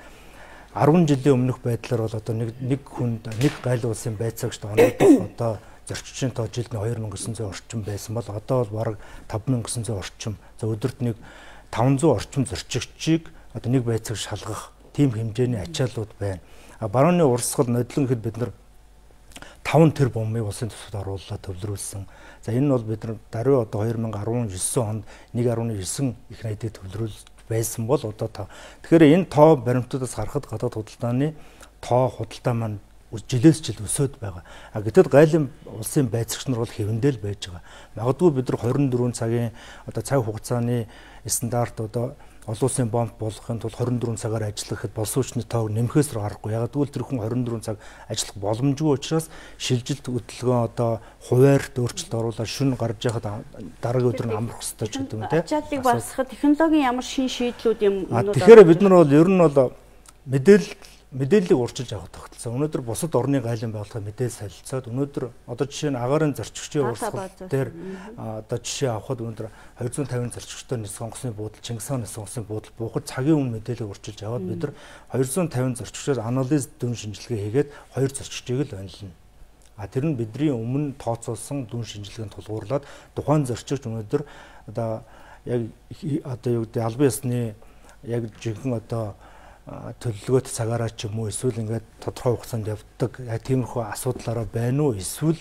10 жилийн өмнөх байдлаар бол одоо нэг хүнд нэг гайл улсын байцаагчд оногдох одоо зорчигчийн тоо жилд 2900 орчим байсан бол одоо бол бараг 5900 орчим. За өдөрт нэг 500 орчим зорчигчийг одоо нэг байцаагч шалгах тийм хэмжээний ачааллууд байна. Барууны урсгал нодлон гэхэд бид нар 5 тэр бомбыг улсын төсөвт оруулаад төвлөрүүлсэн. За энэ нь бол бид нар даруй одоо 2019 онд 1.9 их найдыг төвлөрүүлж байсан бол одоо тэгэхээр энэ тоо баримтуудаас харахад гадаад худалдааны тоо худалдаа маань жилээс жил өсөд байгаа. Гэтэл гайлын улсын байцаагч нар бол хэвэндэл байж байгаа. Магадгүй бид нар 24 цагийн одоо цаг хугацааны стандарт одоо олон улсын бомб болгохын тулд 24 цагаар ажиллахад боловсруучны тоог нэмэхээс гарахгүй. Яг тэгвэл тэр хүн 24 цаг ажиллах боломжгүй учраас шилжилт хөдөлгөөн одоо хуваарьт өөрчлөлт оруулаад шөнө гарч яхад дараагийн өдөр нь амрах хэрэгтэй ч гэдэг юм те. Ачааллыг басгах технологийн ямар шин шийдлүүд юм уу? Тэгэхээр бид нар бол ер нь бол мэдээллийг урьдчилж авах тогтолцоо. Өнөөдөр бусад орны гайлан байгууллага мэдээлэл солилцоод өнөөдөр одоо жишээ нь агаарын зорчигчийн урсгал дээр одоо жишээ авахад өнөөдөр 250 зорчигчтой нийс сонгосны буудал, Чингис хааны сонгосны буудал буухад цагийн өмнө мэдээлэл урьдчилж аваад бид нар 250 зорчигчоос анализ дүн шинжилгээ хийгээд 2 зорчигчийг л онилно. Тэр нь бидний өмнө тооцоолсон дүн шинжилгээнд тулгуурлаад тухайн зорчигч өнөөдөр одоо яг одоо юу гэдэг албан ёсны яг жинхэнэ одоо төлөвлөгөөт цагаараа ч юм уу эсвэл ингээд тодорхой хугацаанд явдаг тиймэрхүү асуудлаараа байна уу эсвэл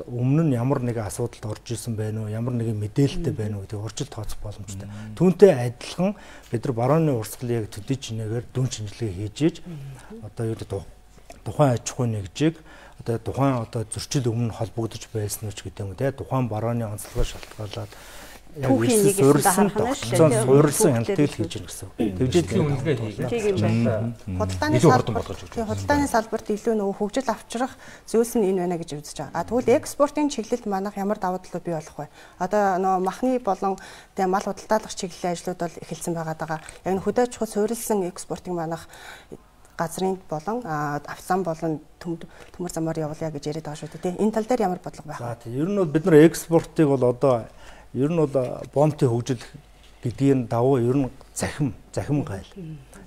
өмнө нь ямар нэгэн асуудалд орж исэн байна уу ямар нэгэн мэдээлэлтэй байна уу гэдэг урьдчилан тооцох боломжтой. Түүнтэй адилхан бид нар барууны урсгалыг яг төдий чинээгээр дүн шинжилгээ хийж одоо юу гэдэг тухайн аж ахуйн нэгжийг одоо тухайн одоо зөрчил өмнө холбогдож байсан уу ч гэдэг юм те тухайн барууны онцлогоо шалтгаалаад түүхийн нэг суурилсан тогтолцоон суурилсан хяналтыг хийж гэнэ гэсэн. Тэгжээдлийн үнэлгээ хийгээд худалдааны салбарт илүү нөгөө хөгжил авчрах зүйлс нь энэ байна гэж үзэж байгаа. Тэгвэл экспортын чиглэлд манайх ямар давуу талууд бий болох вэ? Одоо нөгөө махны болон мал худалдаалах чиглэлийн ажлууд бол эхэлсэн байгаа. Яг нь хөдөө аж ахуй суурилсан экспортыг манайх газрын болон авсан болон төмөр замаар явуулъя гэж яриад байгаа шүү дээ. Энэ тал дээр ямар бодлого байх вэ? За тийм ер нь бол бид нар экспортыг бол одоо ер нь бол бомбын хөгжил гэдгийн давуу ер нь захим гайл.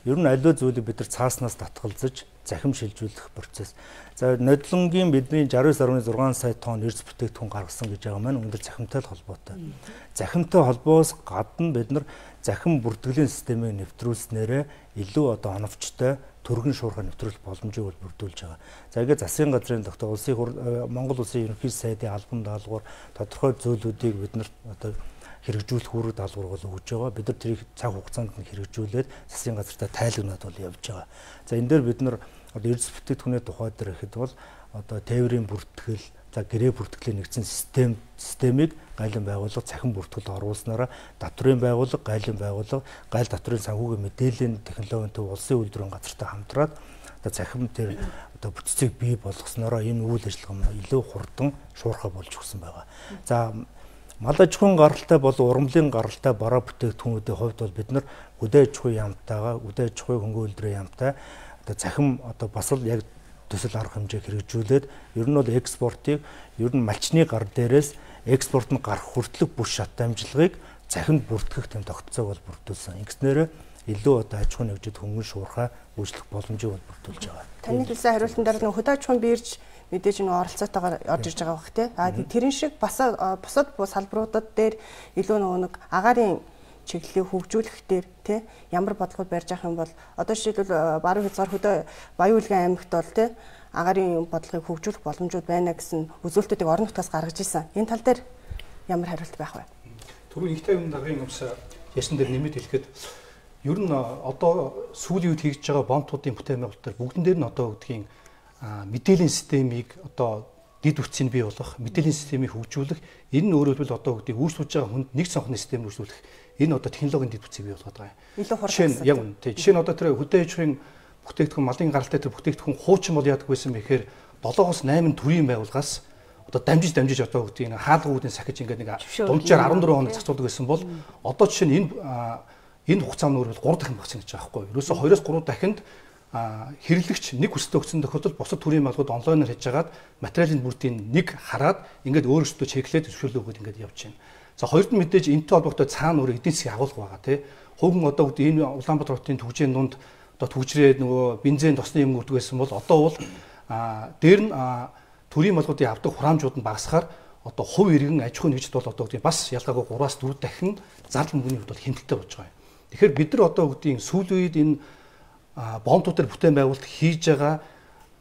Ер нь аливаа зүйлийг бид нар цааснаас татгалзаж захим шилжүүлэх процесс. За нодлонгийн бидний 69.6 сая тонн эрс бүтээгдэхүүн гаргасан гэж байгаа маань өндөр захимтай холбоотой. Захимтай холбоос гадна бид нар захим бүртгэлийн системийг нэвтрүүлснээрээ илүү одоо оновчтой төргөн шуурхай нэвтрүүлэх боломжийг бол бүрдүүлж байгаа. За ингээд засгийн газрын тогтоол Монгол улсын ерөнхий сайдын албан даалгавар тодорхой зүйлүүдийг бид нар одоо хэрэгжүүлэх үүрэг даалгавар бол өгж байгаа. Бид нар тэрийг цаг хугацаанд нь хэрэгжүүлээд засгийн газартаа тайлагнаад бол явж байгаа. За энэ дээр бид нар одоо эрдэс бүтээгдэхүүний тухай дээр ихэд бол одоо тээврийн бүртгэл, за гэрээ бүртгэлийн нэгдсэн системийг гайлан байгууллага цахим бүртгэл оруулснараа татврын байгууллага, гайлан байгууллага, гайл татврын санхүүгийн мэдээллийн технологийн төв улсын үйлдвэрийн газартай хамтраад одоо цахим тэр одоо бүтцийг бий болгоснороо энэ үйл ажиллагаа илүү хурдан шуурхай болж өгсөн байгаа. За мал аж ахуйн гаралтай болон ургамлын гаралтай бараа бүтээгдэхүүнүүдийн хувьд бол бид нар үдээ аж ахуйн яамтайгаа үдээ аж ахуйн хөнгөн үйлдвэрийн яамтай одоо цахим одоо бас л яг төсөл арга хэмжээ хэрэгжүүлээд ер нь бол экспортыг ер нь малчны гар дээрээс экспорт нь гарах хүртэлх бүс шат дамжлагыг цахинд бүртгэх тийм тогтолцоог бол бүрдүүлсэн. Ингэснээр илүү одоо аж ахуйн хөгжид хөнгөн шуурхай үйлчлэх боломжийг бүрдүүлж байгаа. Таны хэлсэн хариултан дээр нэг хөдөө аж ахуйн бирж мэдээж нэг оролцоотойгоор орж ирж байгаа бах тий. Тэрэн шиг бусад салбаруудад дээр илүү нэг агаарын чиглэлийг хөгжүүлэх дээр тий ямар бодлогод барьж авах юм бол одоо жишээлбэл баруун хязгаар хөдөө Баян Улгийн аймагт бол тий агаарын бодлогыг хөгжүүлэх боломжууд байна гэсэн үзүүлэлтүүдийг орон нутгаас гаргаж ирсэн. Энэ тал дээр ямар хариулт байх вэ? Түрүү ихтэй юм даргын юмс ясан дээр нэмэт хэлэхэд ер нь одоо сүүлийн үед хийж байгаа бомтуудын бүтээн байгуулалт бүгдэн дээр нь одоо гэдгийг мэдээллийн системийг одоо дид үтсийг бий болгох, мэдээллийн системийг хөгжүүлэх, энэ нь өөрөөр хэлбэл одоо гэдгийг үйлчлүүлж байгаа хүнд нэг цонхны систем хөгжүүлэх, энэ одоо технологийн дид үтсийг бий болгоод байгаа юм. Илүү хурдан. Яг үнэ. Жишээ нь одоо тэр хөдөө аж ахуйн бүтээгдэхүүн малын гаралтай тэр бүтээгдэхүүн хуучин бол яадаг байсан бэхээр 7-8 төрлийн байгууллагаас одоо дамжиж одоо гэдгийг хаалгуудын сахиж ингээд нэг дунджаар 14 хоног зацуулдаг байсан бол одоо жишээ нь энэ хугацааны өөрөөр 3 дахин багсан гэж байгаа байхгүй юу. Ерөөсө 2-3 дахинд хэрэглэгч нэг хүсэлт өгсөн тохиолдолд бусад төрлийн малгууд онлайнаар хийж агаад материалын бүрдийг нэг хараад ингээд өөрөөсөө чеклээд зөвшөөрлөө өгөөд ингээд явж байна. За хоёрд нь мэдээж энэтэй холбоотой цаана өөр эдийн засгийн агуулга байгаа тий. Хөвгөн одоо гэдэг энэ Улаанбаатар хотын төвжийн дунд одоо төвчрээд нөгөө бензин тосны юм үрдэг байсан бол одоо бол дээр нь төрийн малгуудын авдаг хураамжууд нь багасхаар одоо хувь иргэн аж ахуйн нэгжид бол одоо гэдэг бас ялгаагүй 3-4 дахин зардал мөнгөний хувьд бол хэмтэлтэй болж байгаа юм. Тэгэхээр бид нар одоо гэдгийг сүүлийн үед энэ бомтуудаар бүтээн байгуулалт хийж байгаа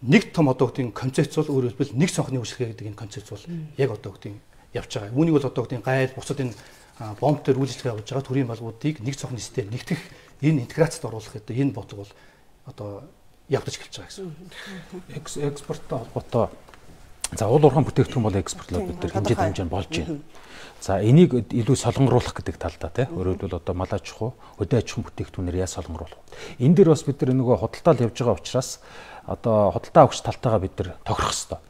нэг том одоо гэдгийг концепц бол өөрөөр хэлбэл нэг цонхны үйлчлэгээ гэдэг энэ концепц бол яг одоо гэдгийг явж байгаа. Үүнийг бол одоо гэдгийг гайл бусад энэ бомтоор үйлчлэгээ явуулж байгаа төрийн малгуудыг нэг цонхны систем нэгтгэх энэ интеграцид оруулах гэдэг энэ бодлого бол одоо явдаж эхэлж байгаа гэсэн. Экспорттой холбоотой за уул уурхайн бүтээгдэхүүн бол экспортлоод бид нар хэмжээд хэмжээнд болж байна. За энийг илүү солонгоруулах гэдэг талдаа тий. Өөрөөр хэлбэл одоо мал аж ахуй, хөдөө аж ахуйн бүтээгдэхүүнээр яаж солонгоруулах. Энэ дээр бас бид нар нөгөө худалдаал явж байгаа учраас одоо худалдаа авахч талтайгаа бид нар тохирох хэрэгтэй.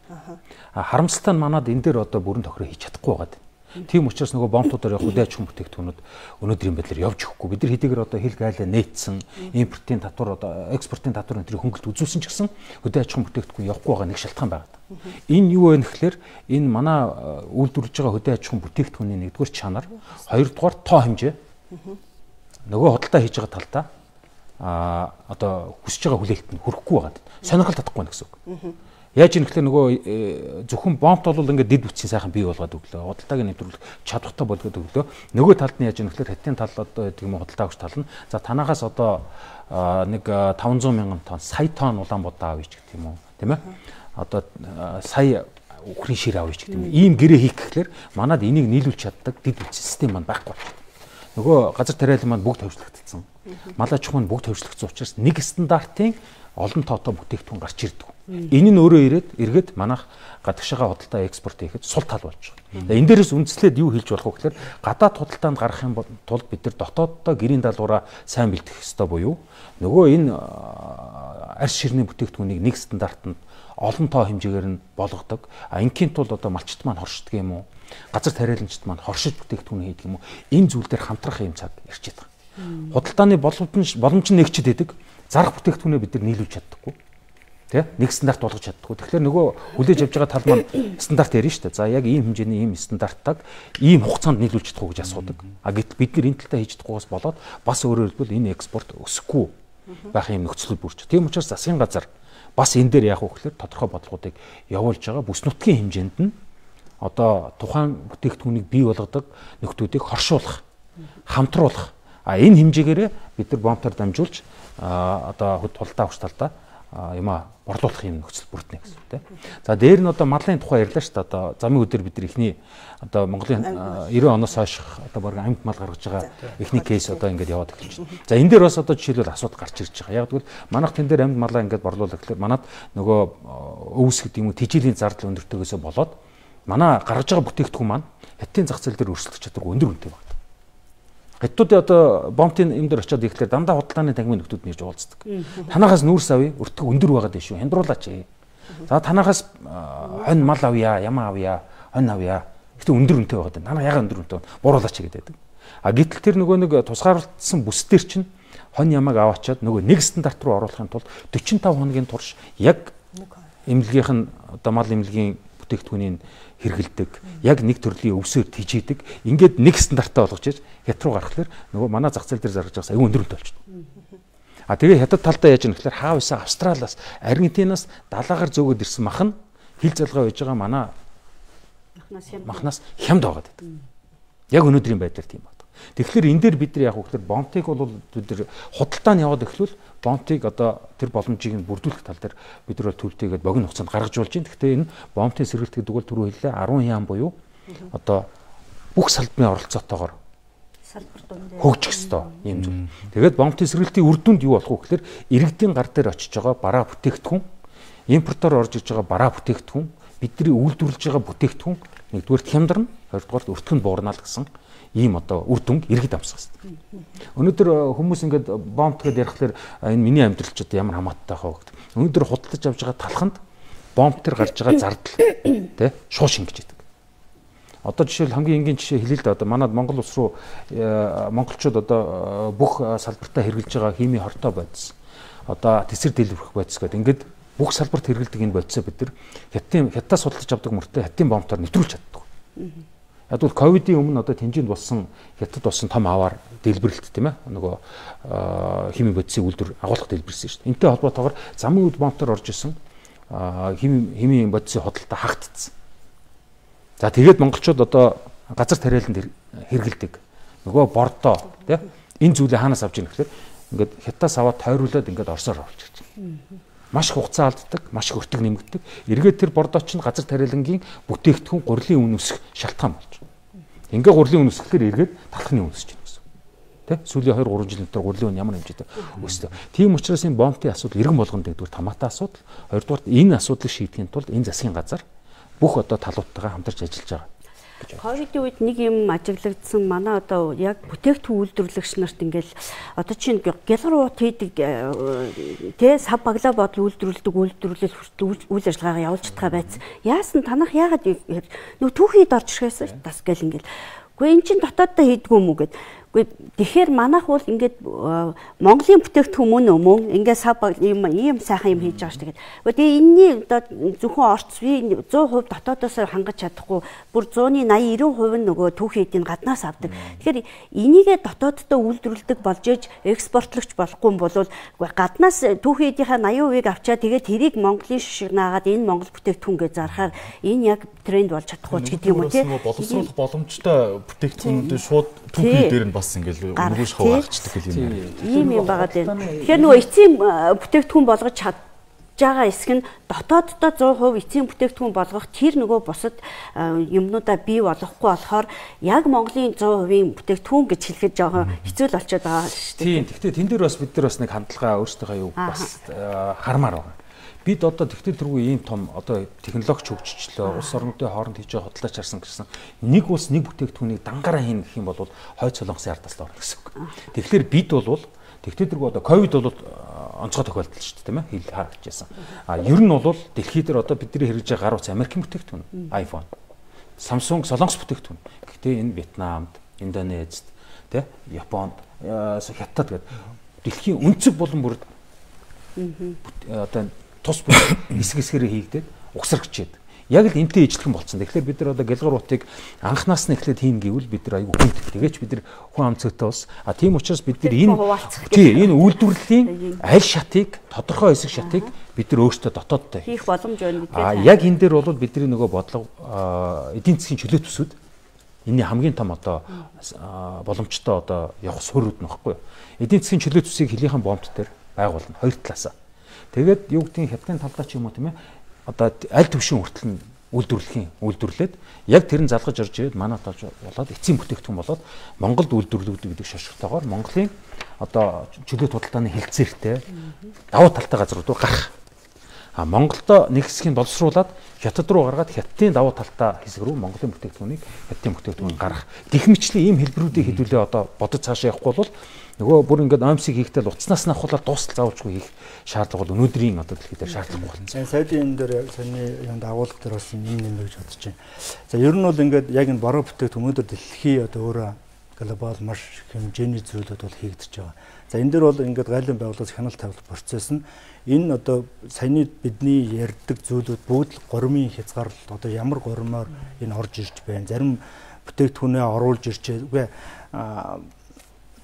Харамсалтай нь манад энэ дээр одоо бүрэн тохироо хийж чадахгүй байгаа. Тийм учраас нөгөө бомтуудаар явах хөдөө аж ахуйн бүтээгдэхүүнүүд өнөөдрийн байдлаар явж өгөхгүй. Бид нар хэдийгээр одоо хил гайлаа нээсэн, импортын татвар одоо экспортын татвар энэ хөнгөлт үзүүлсэн ч гэсэн хөдөө аж ахуйн бүтээгдэхүүн явахгүй байгаа нэг шалтгаан байгаа. Энэ юу вэ гэхээр энэ манай үйлдвэрлэж байгаа хөдөө аж ахуйн бүтээгдэхүүний нэгдүгээр чанар, хоёрдугаар тоо хэмжээ. Нөгөө худалдаа хийж байгаа талдаа одоо хүсэж байгаа хүлээлтэнд хүрэхгүй байгаа. Сонирхол татахгүй байна гэсэн үг. Яаж юм гэхээр нөгөө зөвхөн бомт бол ингээд дид бүтцийн сайхан бий болгоод өглөө. Худалдааг нэвтрүүлэх чадвартай болгоод өглөө. Нөгөө талд нь яаж юм гэхээр хятадын тал одоо гэдэг юм худалдаа авч тал нь за танаагаас одоо нэг 500 мянган тонн, сая тонн Улаанбаатар авъя ч гэдэг юм уу, тийм ээ? Одоо сая үхрийн шир авъя ч гэдэг юм. Ийм гэрээ хийх гэхээр манад энийг нийлүүлж чаддаг дид бүтцийн систем маань байхгүй байна. Нөгөө газар тариалан маань бүгд хөвчлөгдсөн. Мал аж ахуй нь бүгд хөвчлөгдсөн учраас нэг стандартын олон тоотой бүтээгдэхүүн гарч ирдэг. Энэ нь өөрөө эргээд манайх гадагшаага худалдаа экспорт хийхэд сул тал болж байгаа. Энэ дээрээс үндэслээд юу хийж болох вэ гэхээр гадаад худалдаанд гарах юм тулд бид нар дотооддоо гэрийн даалгавраа сайн бэлтгэх ёстой буюу нөгөө энэ арьс ширний бүтээгдэхүүнийг нэг стандартанд олон тоо хэмжээгээр нь болгодог. Ингийн тулд одоо малчт маань хоршдог юм уу? Газар тариаланчт маань хоршиж бүтээгдэхүүн хийдэг юм уу? Энэ зүйл дээр хамтрах юм цаг ирчээд байгаа. Худалдааны боломж нь нэгчд байдаг. Зарах бүтээгдэхүүнээ бид нар нийлүүлж чаддаггүй. Тэ? Нэг стандарт болгож чаддаггүй. Тэгэхээр нөгөө хүлээж авч байгаа тал маань стандарт ярина шүү дээ. За яг ийм хэмжээний ийм стандартыг ийм хугацаанд нийлүүлж чадахгүй гэж асуудаг. Гэтэл бид нар энэ талтаа хийж чадахгүйгээс болоод бас өөрөөр хэлбэл энэ экспорт өсөхгүй байх юм нөхцөл бүрч. Тийм учраас засгийн газар бас энэ дээр яах вэ гэхээр тодорхой бодлогуудыг явуулж байгаа бүс нутгийн хэмжээнд нь одоо тухайн бүтээгдэхүүнийг бий болгодог нөхдүүдийг хоршуулах, хамтруулах. Энэ хэмжээгээрээ бид нар бомтоор дамжуулж одоо худалдаа авах талдаа юма борлуулах юм нөхцөл бүрднэ гэсэн тийм. За дээр нь одоо малын тухай ярьлаа шүү дээ. Одоо замын өдөр бид нар ихний одоо Монголын 90 оноос хойш одоо баг амьд мал гаргаж байгаа ихний кейс одоо ингээд яваад эхэлж байна. За энэ дээр бас одоо жишээлбэл асуудал гарч ирж байгаа. Яг тэгвэл манайх тэн дээр амьд малаа ингээд борлуулах гэхээр манад нөгөө өвс гэдэг юм уу тэжээлийн зардал өндөртөгөөсөө болоод манай гаргаж байгаа бүтээгдэхүүн маань хятадын зах зээл дээр өрсөлдөх чадваргүй өндөр үнэтэй байна. Хятадууд одоо бомтын юм дээр очиод ирэхлээр дандаа худалдааны тангимын нөхдүүд нэрж уулздаг. Танахаас нүүрс авъя, өртөг өндөр байгаад байна шүү. Хямдруулаач. За танахаас хонь мал авъя, ямаа авъя, хонь авъя. Гэтэ өндөр үнэтэй байгаад байна. Танаа яга өндөр үнэтэй бууруулаач гэдэг. Гэтэл тэр нөгөө нэг тусгаарлагдсан бүс дээр чинь хонь ямааг аваачаад нөгөө нэг стандарт руу оруулахын тулд 45 хоногийн турш яг эмнэлгийнх нь одоо мал эмнэлгийн бүтээгдэхүүнийг хэрэгэлдэг, яг нэг төрлийн өвсөөр тижээдэг. Ингээд нэг стандартаа болгож иж хят руу гаргахлаар нөгөө манай зах зээл дээр зарж байгаас аюу өндөрөлт болчихно. Тэгээ хятад талдаа яаж юм гэхээр хаав исэн Австралиас, Аргентинаас далаагаар зөөгөөд ирсэн мах нь хил залгаа байж байгаа манай махнаас хямд байгаа гэдэг. Яг өнөөдрийн байдлаар тийм байна. Тэгэхээр энэ дээр бид нар яг хөөхлөр бомтыг бол бид нар худалдаа нь яваад эхлүүл бомтыг одоо тэр боломжийг нь бүрдүүлэх тал дээр бид нар төвлөтэйгээд богино хугацаанд гаргаж болж байна. Гэхдээ энэ бомтын сэргэлт гэдэг бол түрүү хэллээ 10 яам буюу одоо бүх салбарын оролцоотойгоор салбар дунд хөгжих ёстой юм зүйл. Тэгээд бомтын сэргэлтийн үр дүнд юу болох вэ гэхээр иргэдийн гар дээр очиж байгаа бараа бүтээгдэхүүн, импортоор орж иж байгаа бараа бүтээгдэхүүн, бидний үйлдвэрлэж байгаа бүтээгдэхүүн нэгдүгээр хямдарна, хоёрдугаар өртгөн буурна л гэсэн ийм одоо үр дүнг иргэд амсах хэрэгтэй. Өнөөдөр хүмүүс ингээд бомт гэдээ ярихлаар энэ миний амьдрал ч одоо ямар хамааттай хаа гэдэг. Өнөөдөр худалдаж авж байгаа талханд бомт төр гарч байгаа зардал тий шууд шингэж идэг. Одоо жишээл хамгийн энгийн жишээ хэлээ л да одоо манад Монгол улс руу монголчууд одоо бүх салбартаа хэрэгжилж байгаа хими хортой бодис. Одоо тэсэр дэлбэрэх бодис гэдэг ингээд бүх салбарт хэрэгэлдэг энэ бодисоо бид нар хятадаас судалж авдаг мөртөө хятадын бомтоор нэвтрүүлж чаддаг. Яг бол ковидын өмнө одоо тэмжээнд болсон хятад болсон том аваар дэлбэрэлт тийм ээ нөгөө хими бодисын үйлдвэр агуулгах дэлбэрсэн шүү дээ. Энтэй холбоотойгоор замын үед бомтоор орж исэн хими бодисын худалдаа хагдсан. За тэгээд монголчууд одоо газар тариаланд хэрэгэлдэг. Нөгөө бордоо тийм энэ зүйлээ хаанаас авч ийн гэхээр ингээд хятадаас аваад тойруулаад ингээд Оросоор оруулж ирж байна. Маш хугацаа алддаг, маш өртөг нэмэгддэг. Эргээд тэр бордооч нь газар тариалангийн бүтээгдэхүүн гурилын үн өсөх шалтгаан болж байна. Ингээ гурилын үн өсөхээр эргээд талхны үн өсөж байна гэсэн. Тэ? Сүүлийн 2-3 жилийн дотор гурилын үн ямар хэмжээтэй өссөн. Тийм учраас энэ бомтын асуудал иргэн болгонд нэгдүгээр томаатай асуудал, хоёрдугаар энэ асуудлыг шийдэхин тулд энэ засгийн газар бүх одоо талуудтайгаа хамтарч ажиллаж байгаа. Ковидын үед нэг юм ажиглагдсан манай одоо яг бүтээгдэхүүн үйлдвэрлэгч нарт ингээл одоо чинь гялгар уут хийдэг тэ сав баглаа бодол үйлдвэрлэдэг үйлдвэрлэл хүртэл үйл ажиллагаагаа явуулж чадгаа байц. Яасан танах яагаад нөө түүхийд орж ирэхээс тас гэл ингээл. Гэхдээ эн чин дотооддоо хийдгүү юм уу гэд. Тэгэхээр манайх бол ингээд Монголын бүтээгдэхүүн мөн ингээд сав ийм сайхан юм хийж байгаа ш. Тэгээд энэний одоо зөвхөн орц би 100% дотоодоос хангаж чадахгүй бүр 180-90% нь нөгөө түүхийн эдийн гаднаас авдаг. Тэгэхээр энийгээ дотооддоо үйлдвэрлэдэг болж ээж экспортлогч болохгүй юм бол гаднаас түүхийн эдийнхаа 80%-ийг авчаад тэгээд тэрийг Монголын шишиг наагаад энэ Монгол бүтээгдэхүүнгээ зархаар энэ яг тренд болж чадахгүй ч гэдэг юм уу тийм. Боловсруулах боломжтой бүтээгдэхүүнүүд шууд түүхийн дээр нь бас ингээл өнгөш хаваагчдаг гэх юм байна. Ийм юм байгаад байна. Тэгэхээр нөгөө эцсийн бүтээгдэхүүн болгож чадж байгаа хэсэг нь дотооддоо 100% эцсийн бүтээгдэхүүн болгох тэр нөгөө бусад юмнуудаа бий болгохгүй болохоор яг Монголын 100%-ийн бүтээгдэхүүн гэж хэлэхэд жоохон хэцүү л болчиход байгаа шүү дээ. Тийм. Гэхдээ тэн дээр бас бид нар бас нэг хандлагаа өөрсдийнхөө юу бас хармаар байна. Бид одоо тэгтээ тэргүй ийм том одоо технологич хөгжчлөө улс орнуудын хооронд хийж байгаа худалдаач харсан гэсэн нэг улс нэг бүтээгдэхүүнийг дангаараа хийнэ гэх юм бол хойд солонгосын ардаас л орно гэсэн үг. Тэгэхээр бид бол тэгтээ тэргүй одоо ковид бол онцгой тохиолдол шүү дээ тийм ээ хэл харагдчихсан. Ер нь бол дэлхийд дээр одоо бидний хэрэгж байгаа гар утас Америкийн бүтээгдэхүүн iPhone, Samsung солонгос бүтээгдэхүүн. Гэхдээ энэ Вьетнамд, Индонезид тийм Японд, Хятад гэдэг дэлхийн өнцөг болон бүр одоо тус хэсэг хэсгэрээ хийгдээд угсарч чийд. Яг л энтэй ижлэхэн болцсон. Тэгэхээр бид нар одоо гэлгар утыг анхнаас нь эхлээд хийн гэвэл бид нар аюу хүнд. Тэгээч бид нар хүн амцэгтэй ус. Тийм учраас бид нар энэ үйлдвэрлэлийн аль шатыг тодорхой хэсэг шатыг бид нар өөрсдөө дотооддоо хийх боломж байна гэдэг. Яг энэ дээр бол бидний нөгөө бодлого эдийн засгийн чөлөөт төсүүд энэний хамгийн том одоо боломжтой одоо явах суурьуд нөхгүй. Эдийн засгийн чөлөөт төсийг хилийнхэн бомт дээр байгуулна хоёр талаасаа. Тэгээд юу гэдгийг хятадын талдаа ч юм уу тийм ээ одоо аль төвшин хүртэл нь үйлдвэрлээд яг тэр нь залгаж орж ирээд манай тааж болоод эцсийн бүтээгдэхүүн болоод Монголд үйлдвэрлэгддэг гэдэг шошготойгоор Монголын одоо чөлөөт худалдааны хэлцээртэй давуу талтай газрууд руу гарах. Монголдо нэг хэсгийг боловсруулад хятад руу гаргаад хятадын давуу талтай хэсэг рүү Монголын бүтээгдэхүүнийг хятадын бүтээгдэхүүн гаргах. Гэх мэтчлэн ийм хэлбэрүүдийг хэдүүлээ одоо бодож цаашаа явахгүй бол нөгөө бүр ингээд ОМС-ийг хийхдээ утаснаас нь авахлаар дуустал заавалжгүй хийх шаардлага бол өнөөдрийн одоо дэлхийд дээр шаардлагагүй болсон. Саяны энэ дээр саний юунд агуулга дээр бас юм нэмэ гэж бодож байна. За ер нь бол ингээд яг энэ бороо бүтээгдэхүүн өнөөдөр дэлхий одоо өөрөө глобал маш хэмжээний зүйлүүд бол хийгдэж байгаа. За энэ дээр бол ингээд гайлын байгууллагаас хяналт тавилах процесс нь энэ одоо саяны бидний ярьдаг зүйлүүд бүгд л гормын хязгаарлалт одоо ямар гормоор энэ орж ирж байна. Зарим бүтээгдэхүүнээ оруулж ирчээ. Үгүй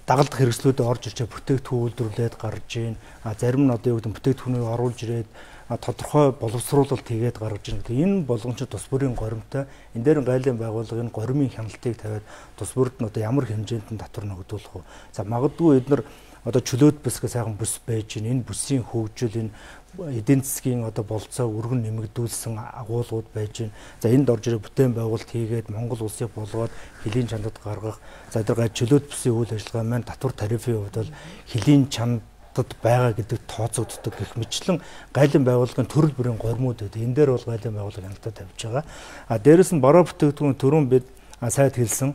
дагалдах хэрэгслүүдэд орж ирчээ бүтээгдэхүүн үйлдвэрлээд гарч ийн. Зарим нь одоо юу гэдэг бүтээгдэхүүнийг оруулж ирээд тодорхой боловсруулалт хийгээд гаргаж ирнэ. Энэ болгон ч тус бүрийн горимтой. Энэ дээр гайлын байгууллагын гормын хяналтыг тавиад тус бүрд нь одоо ямар хэмжээнд нь татвар ногдуулах вэ? За магадгүй эдгээр одоо чөлөөт бүсгээ сайхан бүс байж гин энэ бүсийн хөгжил энэ эдийн засгийн одоо болцоо өргөн нэмэгдүүлсэн агуулгууд байж гин. За энд орж ирээ бүтээн байгуулалт хийгээд Монгол улсыг болгоод хөлийн чандад гаргах. За эдгээр чөлөөт бүсийн үйл ажиллагаа маань татвар тарифын хувьд бол хөлийн чанд байгаа гэдэг тооцогддог гэх мэтлэн гайлын байгууллагын төрөл бүрийн гормууд байдаг. Энэ дээр бол гайлын байгууллага хяналтаа тавьж байгаа. Дээрэс нь бараа бүтээгдэхүүн түрүүн бид сайд хэлсэн.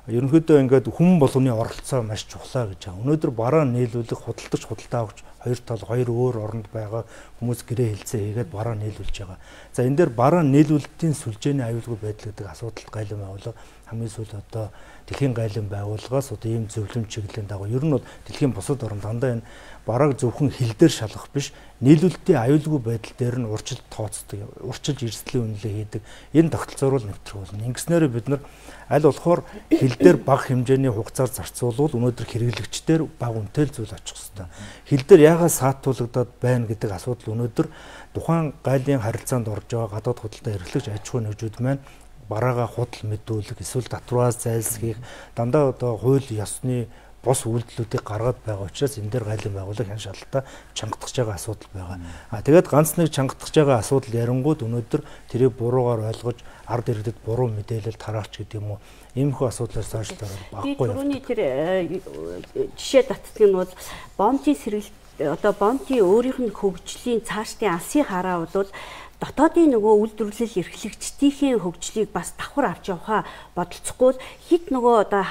Ерөнхийдөө ингээд хүн болгоны оролцоо маш чухлаа гэж байгаа. Өнөөдөр бараа нийлүүлэх худалдаж худалдаа авч хоёр тал хоёр өөр оронд байгаа хүмүүс гэрээ хэлцээ хийгээд бараа нийлүүлж байгаа. За энэ дээр бараа нийлүүлэлтийн сүлжээний аюулгүй байдал гэдэг асуудалд гайлын байгууллага хамгийн сүүл одоо дэлхийн гайлын байгууллагаас одоо ийм зөвлөмж чиглэлийн дагуу ер нь бол дэлхийн бусад орнд дандаа энэ бараг зөвхөн хил дээр шалгах биш нийлүүлэлтийн аюулгүй байдал дээр нь урьдчилан тооцдог, урьдчилж эрсдлийн үнэлгээ хийдэг. Энэ тогтолцоор л нэвтрэх болно. Ингэснээр бид нар аль болохоор хил дээр бага хэмжээний хугацаар зарцуулбал өнөөдөр хэрэглэгчдэр бага үнэтэй зүйл очих хэвээр. Хил дээр яагаад саатуулагдаад байна гэдэг асуудал өнөөдөр тухайн гайлын харилцаанд орж байгаа гадаад худалдаа эрхлэгч аж ахуйн нэгжүүд маань бараагаа худал мэдүүлэх эсвэл татвараас зайлсхийх дандаа одоо хууль ёсны бос үйлдэлүүдийг гаргаад байгаа учраас энэ дээр гайлын байгууллага хэн шалалтаа чангатгаж байгаа асуудал байгаа. Тэгээд ганц нэг чангатгаж байгаа асуудал ярингууд өнөөдөр тэрийг буруугаар ойлгож ард иргэдэд буруу мэдээлэл тараач гэдэг юм уу. Иймэрхүү асуудлаас цаашлаад баггүй. Түрүүний тэр жишээ татдаг нь бол бомтын сэргэлт одоо бомтын өөрийнх нь хөгжлийн цаашдын алсын хараа бол дотоодын нөгөө үйлдвэрлэл эрхлэгчдийн хөгжлийг бас давхар авч явахаа бодолцохгүй хит нөгөө одоо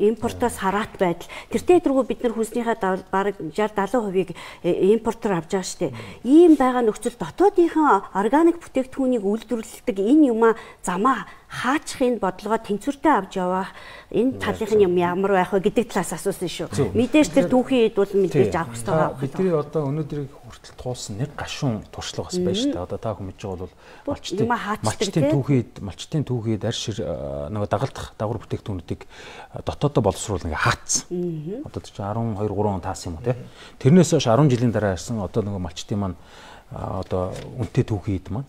импортоос хараат байдал тэртээ дөрвөө бид нар хүснийхээ бараг 60-70% импортоор авч байгаа штеп. Ийм байгаа нөхцөл дотоодынхан органик бүтээгдэхүүнийг үйлдвэрлэдэг энэ юмаа замаа хаачих энэ бодлогоо тэнцвэртэй авч явах энэ талынхын юм ямар байх вэ гэдэг талаас асуусан шүү. Мэдээж тэр түүхийн хэд бол мэдээж авах хэрэгтэй байгаа. Бидний одоо өнөөдрийг хүртэл туулсан нэг гашуун туршлага бас байна шүү дээ. Одоо та хүн мэдж байгаа бол малчтын түүхийд арь шир нөгөө дагалдах дагвар бүтээгдэхүүнүүдийг дотоодоо боловсруулах ингээ хаацсан. Одоо ч 12 3 он таасан юм уу те. Тэрнээс хойш 10 жилийн дараа ирсэн одоо нөгөө малчтын маань одоо үнэтэй түүхийд маань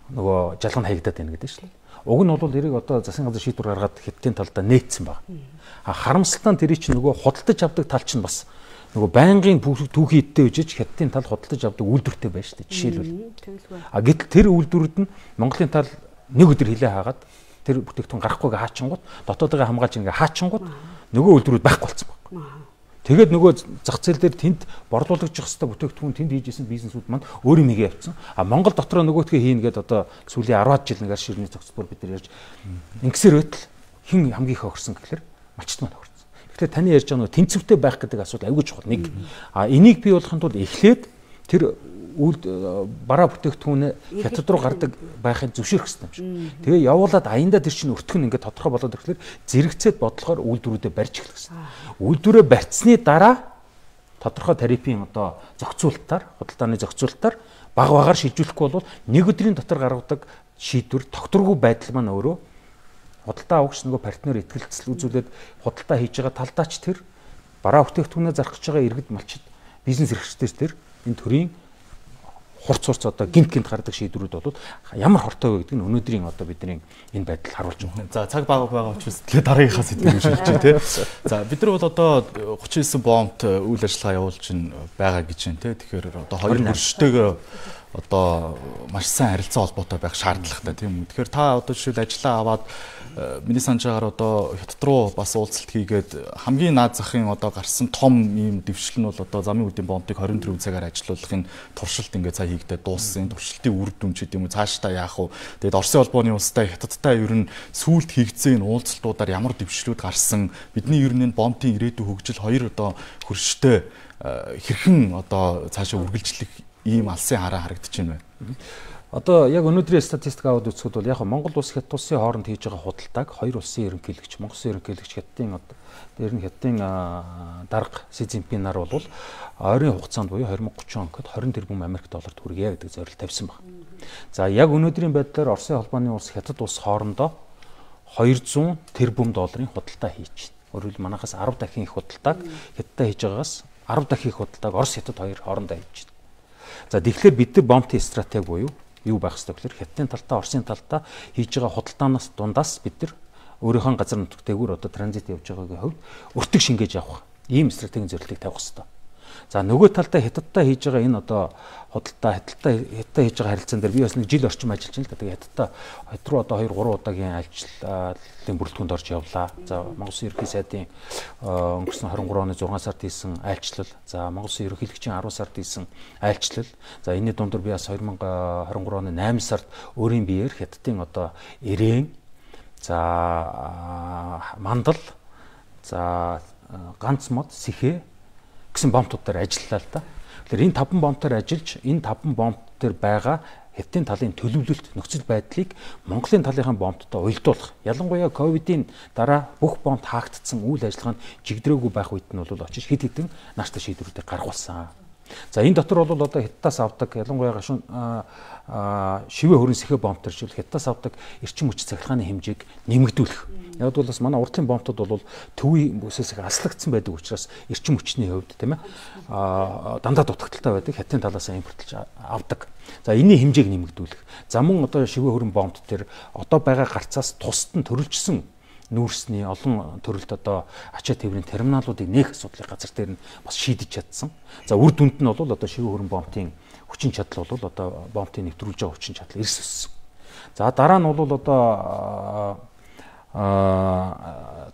нөгөө жалганд хаягдаад байна гэдэг шүү дээ. Уг нь бол эрийг одоо засгийн газар шийдвэр гаргаад хятадын талдаа нээсэн баг. Харамсалтай нь тэрий чинь нөгөө худалдаж авдаг тал чинь бас нөгөө байнгын түүхий идтэй үжиж хятадын тал худалдаж авдаг үйлдвэртэй байна шүү дээ. Жишээлбэл. Гэтэл тэр үйлдвэрүүд нь Монголын тал нэг өдөр хилээ хаагаад тэр бүтээгдэхүүн гарахгүйгээ хаачингууд дотоодоо хамгаалж ингээ хаачингууд нөгөө үйлдвэрүүд байхгүй болсон баг. Тэгээд нөгөө зах зээл дээр тэнд борлуулагдчих хэвээр бүтээгдэхүүн тэнд хийжсэн бизнесүүд маань өөр юм хийгээ явцсан. Монгол дотроо нөгөөтгөө хийн гээд одоо сүүлийн 10-аад жил нэгээр ширний зохицбор бид нар ярьж ингэсээр байтал хэн хамгийн их огорсон гэхээр малчт маань огорсон. Тэгэхээр таны ярьж байгаа нөгөө тэнцвэртэй байх гэдэг асуудал аюул чухал нэг. Энийг бий болгохын тулд эхлээд тэр бараа бүтээгдэхүүн хятад руу гардаг байхыг зөвшөөрөх хэрэгтэй юм шиг. Тэгээ явуулаад аяндаа тэр чинь өртгөн ингээд тодорхой болоод ирэхлээр зэрэгцээд бодлохоор үйлдвэрүүдэд барьж эхлэх хэрэгтэй. Үйлдвэрээ барьцсны дараа тодорхой тарифын одоо зохицуулалтаар, худалдааны зохицуулалтаар багаар шилжүүлэхгүй бол нэг өдрийн дотор гаргадаг шийдвэр тогтворгүй байдал маань өөрөө худалдаа авагч нөгөө партнер ихтгэлцэл үзүүлээд худалдаа хийж байгаа талдаач тэр бараа бүтээгдэхүүнээ зарах гэж байгаа иргэд малчид бизнес эрхлэгчдээс тэр энэ төрлийн хурц одоо гинт гардаг шийдвэрүүд бол ямар хортой вэ гэдэг нь өнөөдрийн одоо бидний энэ байдал харуулж байгаа. За цаг бага байгаа учраас тэгээ дараагийнхаа сэдвийг шилжиж тий. За бид нар бол одоо 39 бомбт үйл ажиллагаа явуулж байгаа гэж байна тий. Тэгэхээр одоо хоёр хөрштэйгээ одоо маш сайн харилцаа холбоотой байх шаардлагатай тийм үү. Тэгэхээр та одоо жишээл ажиллаа аваад миний санаж байгаагаар одоо хятад руу бас уулзалт хийгээд хамгийн наад захын одоо гарсан том ийм дэвшил нь бол одоо замын үдийн бомбыг 24 цагаар ажилуулахын туршилт ингээд цаа хийгдээ дууссан. Туршилтын үр дүн ч гэдэм үү цаашдаа яах вэ? Тэгээд Оросын холбооны улстай хятадтай ер нь сүүлд хийгдсэн уулзалтуудаар ямар дэвшлүүд гарсан? Бидний ер нь бомбын ирээдүйн хөгжил хоёр одоо хөрштэй хэрхэн одоо цаашаа үргэлжлэх ийм алсын хараа харагдаж байна вэ? Одоо яг өнөөдрийн статистик аваад үзэхэд бол яг Монгол улс Хятад улсын хооронд хийж байгаа худалдааг хоёр улсын ерөнхийлөгч, Монгол улсын ерөнхийлөгч Хятадын одоо дээр нь Хятадын дарга Си Цзиньпин нар бол ойрын хугацаанд буюу 2030 онд 20 тэрбум Америк долларт хүргье гэдэг зорилт тавьсан байна. За яг өнөөдрийн байдлаар Оросын холбооны улс Хятад улс хоорондоо 200 тэрбум долларын худалдаа хийж байна. Өөрөөр хэлбэл манайхаас 10 дахин их худалдааг Хятадтай хийж байгаагаас 10 дахин их худалдааг Орос Хятад хоёр хоорондоо хийж байна. За тэгэхээр бид нар бомбын стратеги буюу юу байх ёстой гэхээр Хятадын талдаа Оросын талдаа хийж байгаа худалдаанаас дундаас бид нар өөрийнхөө газар нутгтайгүр одоо транзит явж байгаагийн хувьд өртөг шингээж авах ийм стратегийн зорилтыг тавих ёстой. За нөгөө талдаа Хятадтай хийж байгаа энэ одоо худалдаа Хятадтай хийж байгаа харилцаан дээр би бас нэг жил орчим ажиллаж байна л да. Тэгээ Хятадтай Хятад руу одоо 2-3 удаагийн альчлалын бүрэлдэхүүнд орж явлаа. За Монгол Улсын ерөнхий сайдын өнгөрсөн 23 оны 6 сард хийсэн айлчлал, за Монгол Улсын ерөнхийлөгчийн 10 сард хийсэн айлчлал. За энэний дундор би бас 2023 оны 8 сард өөрийн биеэр Хятадын одоо Ирээн, за Мандал, за ганц мод, Сэхэ гэсэн бомбтуудаар ажиллалаа л да. Тэгэхээр энэ 5 бомбтоор ажиллаж энэ 5 бомб дээр байгаа Хятадын талын төлөвлөлт нөхцөл байдлыг Монголын талынхаа бомбттой уялдуулах. Ялангуяа ковидын дараа бүх бомб хаагдсан үйл ажиллагаанд жигдрээгүй байх үед нь бол очиж хэд хэдэн нааштай шийдвэрүүдийг гаргуулсан. За энэ дотор бол одоо Хятадаас авдаг ялангуяа шивээ хөрөн Сэхэ бомбтор жишээл Хятадаас авдаг эрчим хүч цахилгааны хэмжээг нэмэгдүүлэх. Яг бол бас манай уртлын бомбтод бол төвийн бүсээс их аслагдсан байдаг учраас эрчим хүчний хувьд тийм ээ дандаа дутагдaltaй байдаг Хятадын талаас импортлж авдаг. За энэний хэмжээг нэмэгдүүлэх. За мөн одоо шивээ хөрөн бомбт төр одоо байгаа гарцаас тусад нь төрөлжсөн нүүрсний олон төрөлт одоо ачаа тээврийн терминалуудыг нээх асуудлыг газар дээр нь бас шийдэж чадсан. За үр дүнд нь бол одоо шивээ хөрөн бомбтын хүчин чадал бол одоо бомбтыг нэвтрүүлж байгаа хүчин чадал эрс өссөн. За дараа нь бол одоо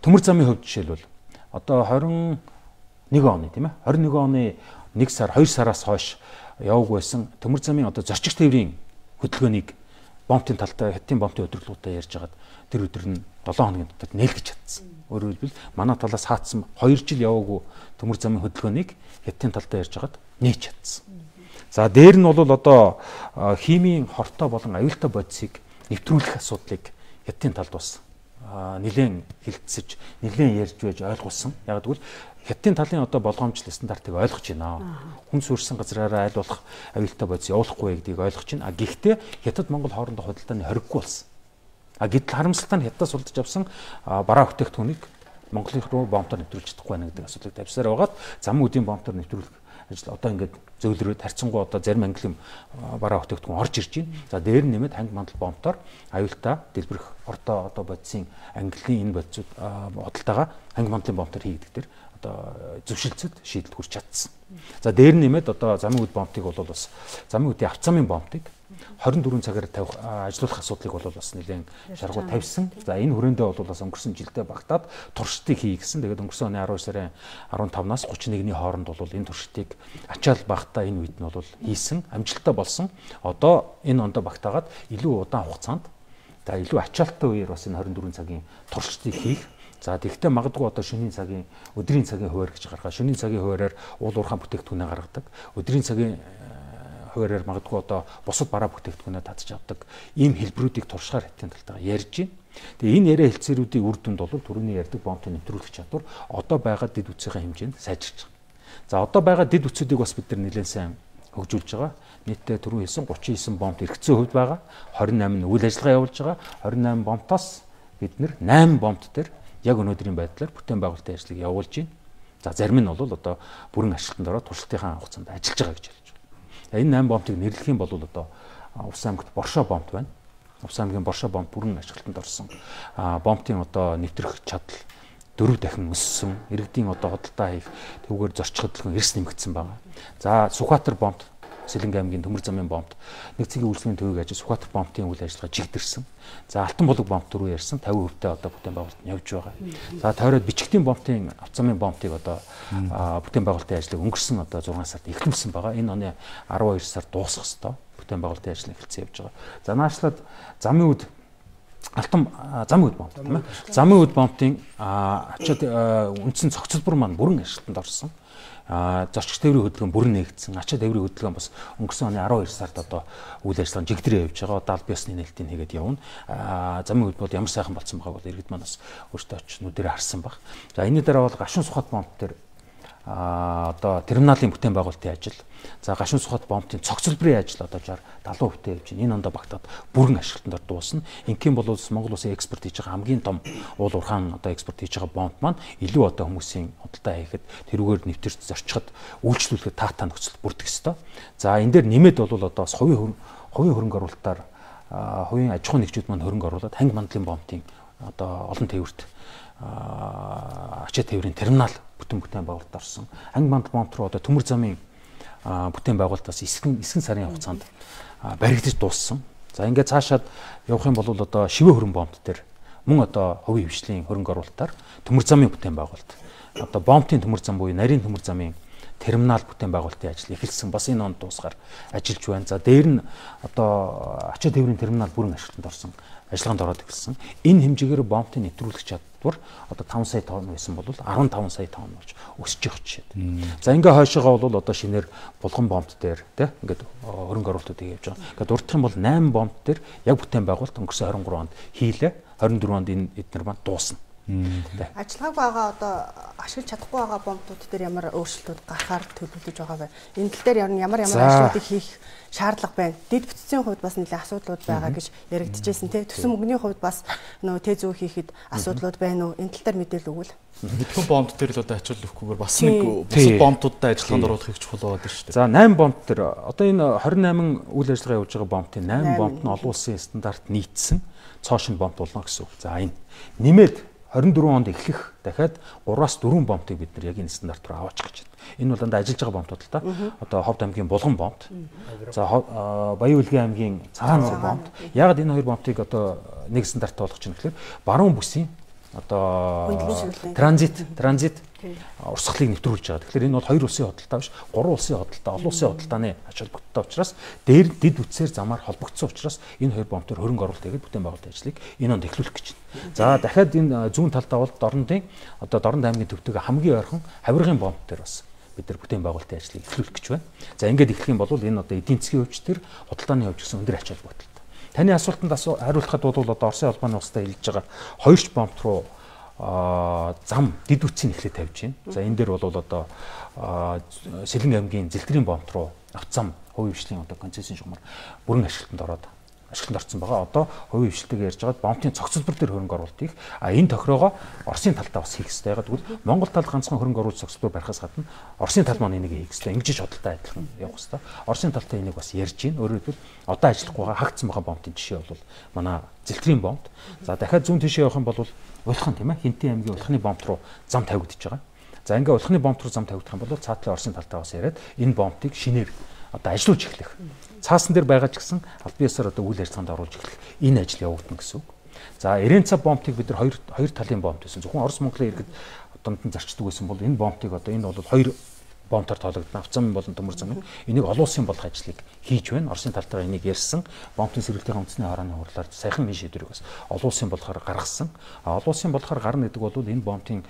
төмөр замын хувьд жишээлбэл одоо 21 оны тийм ээ 21 оны 1 сар 2 сараас хойш яваг байсан төмөр замын одоо зорчигч тээврийн хөдөлгөөнийг бомбтын талтай Хятадын бомбтын өдөрлгүүдээр ярьж хагаад тэр өдөр нь 7 хоногийн дотор нээлгэж чадсан. Өөрөөр хэлбэл манай талаас хаацсан 2 жил яваагүй төмөр замын хөдөлгөөнийг Хятадын талтай ярьж хагаад нээж чадсан. За дээр нь бол одоо химийн хортой болон аюултай бодисыг нэвтрүүлэх асуудлыг Хятадын талд бас нэлээд хилцэж, нэлээд ярьж байж ойлгуулсан. Яг гэвэл Хятадын талын одоо болгоомжлол стандартыг ойлгож байна. Хүн суурьсан газраараа аль болох аюултай бодис явуулахгүй гэдгийг ойлгож байна. Гэхдээ Хятад Монгол хоорондох худалдааны хориггүй болсон. Гэтэл харамсалтай нь Хятадаас судалж авсан бараа бүтээгдэхүүнийг Монголын руу бомбоор нэвтрүүлж чадахгүй байна гэдэг асуудлыг тавьсаар байгаад зам үдийн бомбоор нэвтрүүлэх ажил одоо ингээд зөөлрөөд харьцангуй одоо зарим англи бараа бүтээгдэхүүн орж ирж байна. За дээр нь нэмээд ханги мандал бомбоор аюултай дэлбэрэх орто одоо бодисын английн энэ бодисууд худалдаагаа ханги мандлын бомбоор хийгдэх дээр одоо зөвшөлтсөд шийдэл хүрч чадсан. За дээр нь нэмээд одоо замын үд бомбтыг бол бас замын үдийн авцамын бомбтыг 24 цагаар тавих ажиллуулах асуудлыг бол бас нэлээд шаргуу тавьсан. За энэ хүрээндээ бол бас өнгөрсөн жилдээ багтаад туршилтыг хий гэсэн. Тэгээд өнгөрсөн оны 12 сарын 15-наас 31-ний хооронд бол энэ туршилтыг ачаал багтаа энэ үед нь бол хийсэн, амжилттай болсон. Одоо энэ ондоо багтаагаад илүү удаан хугацаанд за илүү ачаалттай үеэр бас энэ 24 цагийн туршилтыг хийх. За тэгвэл магадгүй одоо шөнийн цагийн өдрийн цагийн хуваар гэж гаргаа. Шөнийн цагийн хуваараар уул уурхайн бүтээгдэхүүнээ гаргадаг. Өдрийн цагийн хуваараар магадгүй одоо бусад бараа бүтээгдэхүүнээ татж авдаг. Ийм хэлбэрүүдийг туршихаар Хятадын талтайгаа ярьж байна. Тэгээ энэ яриа хэлцээрүүдийн үр дүнд бол түрүүний ярьдаг бомбын нэвтрүүлэх чадвар одоо байгаа дэд үтсийн хэмжээнд сайжирч байгаа. За одоо байгаа дэд үтсүүдийг бас бид нар нэлээд сайн хөгжүүлж байгаа. Нийтдээ түрүү хэлсэн 39 бомб эргэцсэн хувьд байгаа. 28 нь үйл ажиллагаа явуулж байгаа. 28 бомбтоос бид нар 8 бомбт дээр яг өнөөдрийн байдлаар бүтээн байгуулалтын ажлыг явуулж байна. За зарим нь бол одоо бүрэн ашиглалтанд ороод туршилтынхаа хугацаанд ажиллаж байгаа гэж хэлж байна. Энэ 8 бомбыг нэрлэх юм бол одоо Увс аймагт Боршоо бомб байна. Увс аймгийн Боршоо бомб бүрэн ашиглалтанд орсон. Бомбын одоо нэвтрэх чадал 4 дахин өссөн. Иргэдийн одоо худалдаа хийх төвгээр зорчих хөдөлгөөн эрс нэмэгдсэн байна. За Сүхбаатар бомб Сэлэнг аймгийн төмөр замын бомбд нэгцгийн үйлчлэгийн төвийг ажиж Сүхбаатар бомбын үйл ажиллагаа жигдэрсэн. За Алтан булаг бомб түрүү ярьсан 50% одоо бүтээн байгуулалт нь явж байгаа. За тойроод бичгтийн бомбын авцамын бомбыг одоо бүтээн байгуулалтын ажлыг өнгөрсөн одоо 6 сард эхлүүлсэн байгаа. Энэ оны 12 сард дуусах ёстой бүтээн байгуулалтын ажил эхэлсэн явж байгаа. За наашлаад замын үд алтан замын үд бомб тийм ээ. Замын үд бомбын ачаад үндсэн цогцлбор маань бүрэн ажилтанд орсон. Зорчигч тээврийн хөдөлгөөн бүрэн нээгдсэн. Ачаа тээврийн хөдөлгөөн бас өнгөрсөн оны 12 сард одоо үйл ажиллагаа жигдрээ явж байгаа. Даал биосны нээлтийг хийгээд явна. Замын үд бол ямар сайхан болсон байгааг бол иргэд маань бас өөртөө очиж нүдэрээ харсан баг. За энэний дараа бол гашуун сухат бомб дээр одоо терминалын бүтээн байгуулалтын ажил. За гашуун сухат бомбын цогцлборын ажил одоо 60-70% явж байна. Энэ ондоо багтаад бүрэн ашиглалтанд дуусна. Ингийн бол Монгол улсын экспорт хийж байгаа хамгийн том уул уурхаан одоо экспорт хийж байгаа бомб маань илүү одоо хүмүүсийн худалдаа хийхэд тэрүүгээр нэвтэрч зорчиход үйлчлүүлэхэд таатаа нөхцөл бүрдэх ёстой. За энэ дээр нэмээд бол одоо бас хувийн хөрөнгө оруулалтаар хувийн аж ахуйн нэгжүүд маань хөрөнгө оруулаад ханги мандлын бомбын одоо олон тээвэрт ачаа тээврийн терминал бүтээн байгуулалт орсон. Ханги мандал бомб руу одоо төмөр замын бүтээн байгуулалтаас эсгэн сарын хугацаанд баригдаж дууссан. За ингээд цаашаад явах юм бол одоо шивэ хөрөнгө бомбт дээр мөн одоо хувийн хвшлийн хөрөнгө оруулалтаар төмөр замын бүтээн байгуулалт. Одоо бомбын төмөр зам буюу нарийн төмөр замын терминал бүтээн байгуулалтын ажил эхэлсэн. Бас энэ онд дуусгаар ажиллаж байна. За дээр нь одоо ачаа тээврийн терминал бүрэн ашиглалтанд орсон. Ажиллагаанд ороод эхэлсэн. Энэ хэмжээгээр бомбын нэвтрүүлэх чадвар одоо 5 сая тонн байсан бол 15 сая тонн болж өсөж байгаа жишээ. За ингээ хойшоогоо бол одоо шинээр булган бомбт дээр тий ингээд хөрөнгө оруулалтууд хийж байгаа. Ингээд дурдах юм бол 8 бомбт дээр яг бүтээн байгуулалт өнгөрсөн 23 онд хийлээ. 24 онд энэ эднэр маань дуусна. Ажиллагааг байгаа одоо ашиглаж чадахгүй байгаа бомбууд дээр ямар өөрчлөлтүүд гарахаар төлөвлөж байгаа вэ? Энэ тал дээр ямар ажлуудыг хийх шаардлага байна. Дэд бүтцийн хувьд бас нэлээд асуудлууд байгаа гэж яригдчихсэн тий. Төсөн мөнгөний хувьд бас нөө тэ зүү хийхэд асуудлууд байна уу? Энэ тал дээр мэдээлэл өгвөл. Хэдхэн бомб дээр л одоо ачаал өгөхгүйгээр бас нэг бусад бомбуудтай ажиллагаанд оруулах их чухал болоод шүү дээ. За 8 бомб дээр одоо энэ 28 үйл ажиллагаа явуулж байгаа бомбын 8 бомб нь олон улсын стандарт нийцсэн цоошин бомб болно гэсэн үг. За энэ нэмээд 24 онд эхлэх дахиад 3-аас 4 бомбыг бид нар яг энэ стандарт руу аваачих гэж байна. Энэ бол дандаа ажиллаж байгаа бомбууд л та. Одоо Ховд аймгийн Булган бомб. За Баян Үлгийн аймгийн Цагаан нур бомб. Яг энэ хоёр бомбыг одоо нэг стандарт болгож байна гэхээр баруун бүсийн одоо транзит урсгалыг нэвтрүүлж байгаа. Тэгэхээр энэ бол хоёр улсын худалдаа биш, гурван улсын худалдаа, олон улсын худалдааны ач холбогдолтой учраас дээр дэд үтсээр замаар холбогдсон учраас энэ хоёр бомб төр хөрөнгө оруулалт хийгээд бүтээн байгуулалтын ажлыг энэ онд эхлүүлэх гэж байна. За дахиад энэ зүүн талдаа бол Дорнод аймгийн төвтэйг хамгийн ойрхон Хавиргын бомб төр бас бид нар бүтээн байгуулалтын ажлыг эхлүүлэх гэж байна. За ингээд эхлэх юм бол энэ одоо эдийн засгийн хөвч төр худалдааны хөвч гэсэн өндөр ач холбогдолтой. Таны асуултанд хариулахад бол одоо Оросын холбооны устай хэлж байгаа хоёрч бомб руу зам дэд үтсийг эхлээд тавьж байна. За энэ дээр бол одоо Сэлэн аймгийн Зэлтрийн бомб руу авцам хувийн хвшлийн одоо концессийн шугамар бүрэн ашиглалтанд орсон байгаа. Одоо хувийн хвшилтэйг ярьж байгаад бомбын цогцлбор дээр хөрөнгө оруулалт хийх. Энэ тохироогоо Оросын талдаа бас хийх хэрэгтэй. Тэгвэл Монгол тал ганцхан хөрөнгө оруулалт цогцлбор барихаас гадна Оросын тал маань энийг хийх хэрэгтэй. Ингэж хөдөлтөй адилхан явах хэрэгтэй. Оросын талтай энийг бас ярьж байна. Өөрөөр хэлбэл одоо ажиллахгүй байгаа хагдсан байгаа бомбын жишээ бол манай Зэлтрийн бомб. За дахиад зүүн тишээ явах юм бол Улхан тийм ээ Хинтэн аймгийн Улханы бомб руу зам тавигдчихж байгаа. За ингээ Улханы бомб руу зам тавигдах юм бол цаатлын Оросын талтай бас яриад энэ бомбыг шинээр одоо ажиллуулж эхлэх. Цаасан дээр байгаа ч гэсэн аль биесээр одоо үйл ажиллагаанд оруулж эхлэх энэ ажил явагдана гэсэн үг. За Иренца бомбыг бид нар хоёр талын бомб гэсэн. Зөвхөн Орос Монголын иргэд дунд нь зарчдаг байсан бол энэ бомбыг одоо энэ бол хоёр бомбтаар тоологдсон. Авцам болон төмөр зам. Энийг олон улсын болох ажлыг хийж байна. Оросын талтайгаа энийг ярьсан. Бомбын сэргэлтийн үндэсний харааны хурлаар саяхан энэ шийдвэрийг бас олон улсын болохоор гаргасан. Олон улсын болохоор гарна гэдэг бол энэ бомбын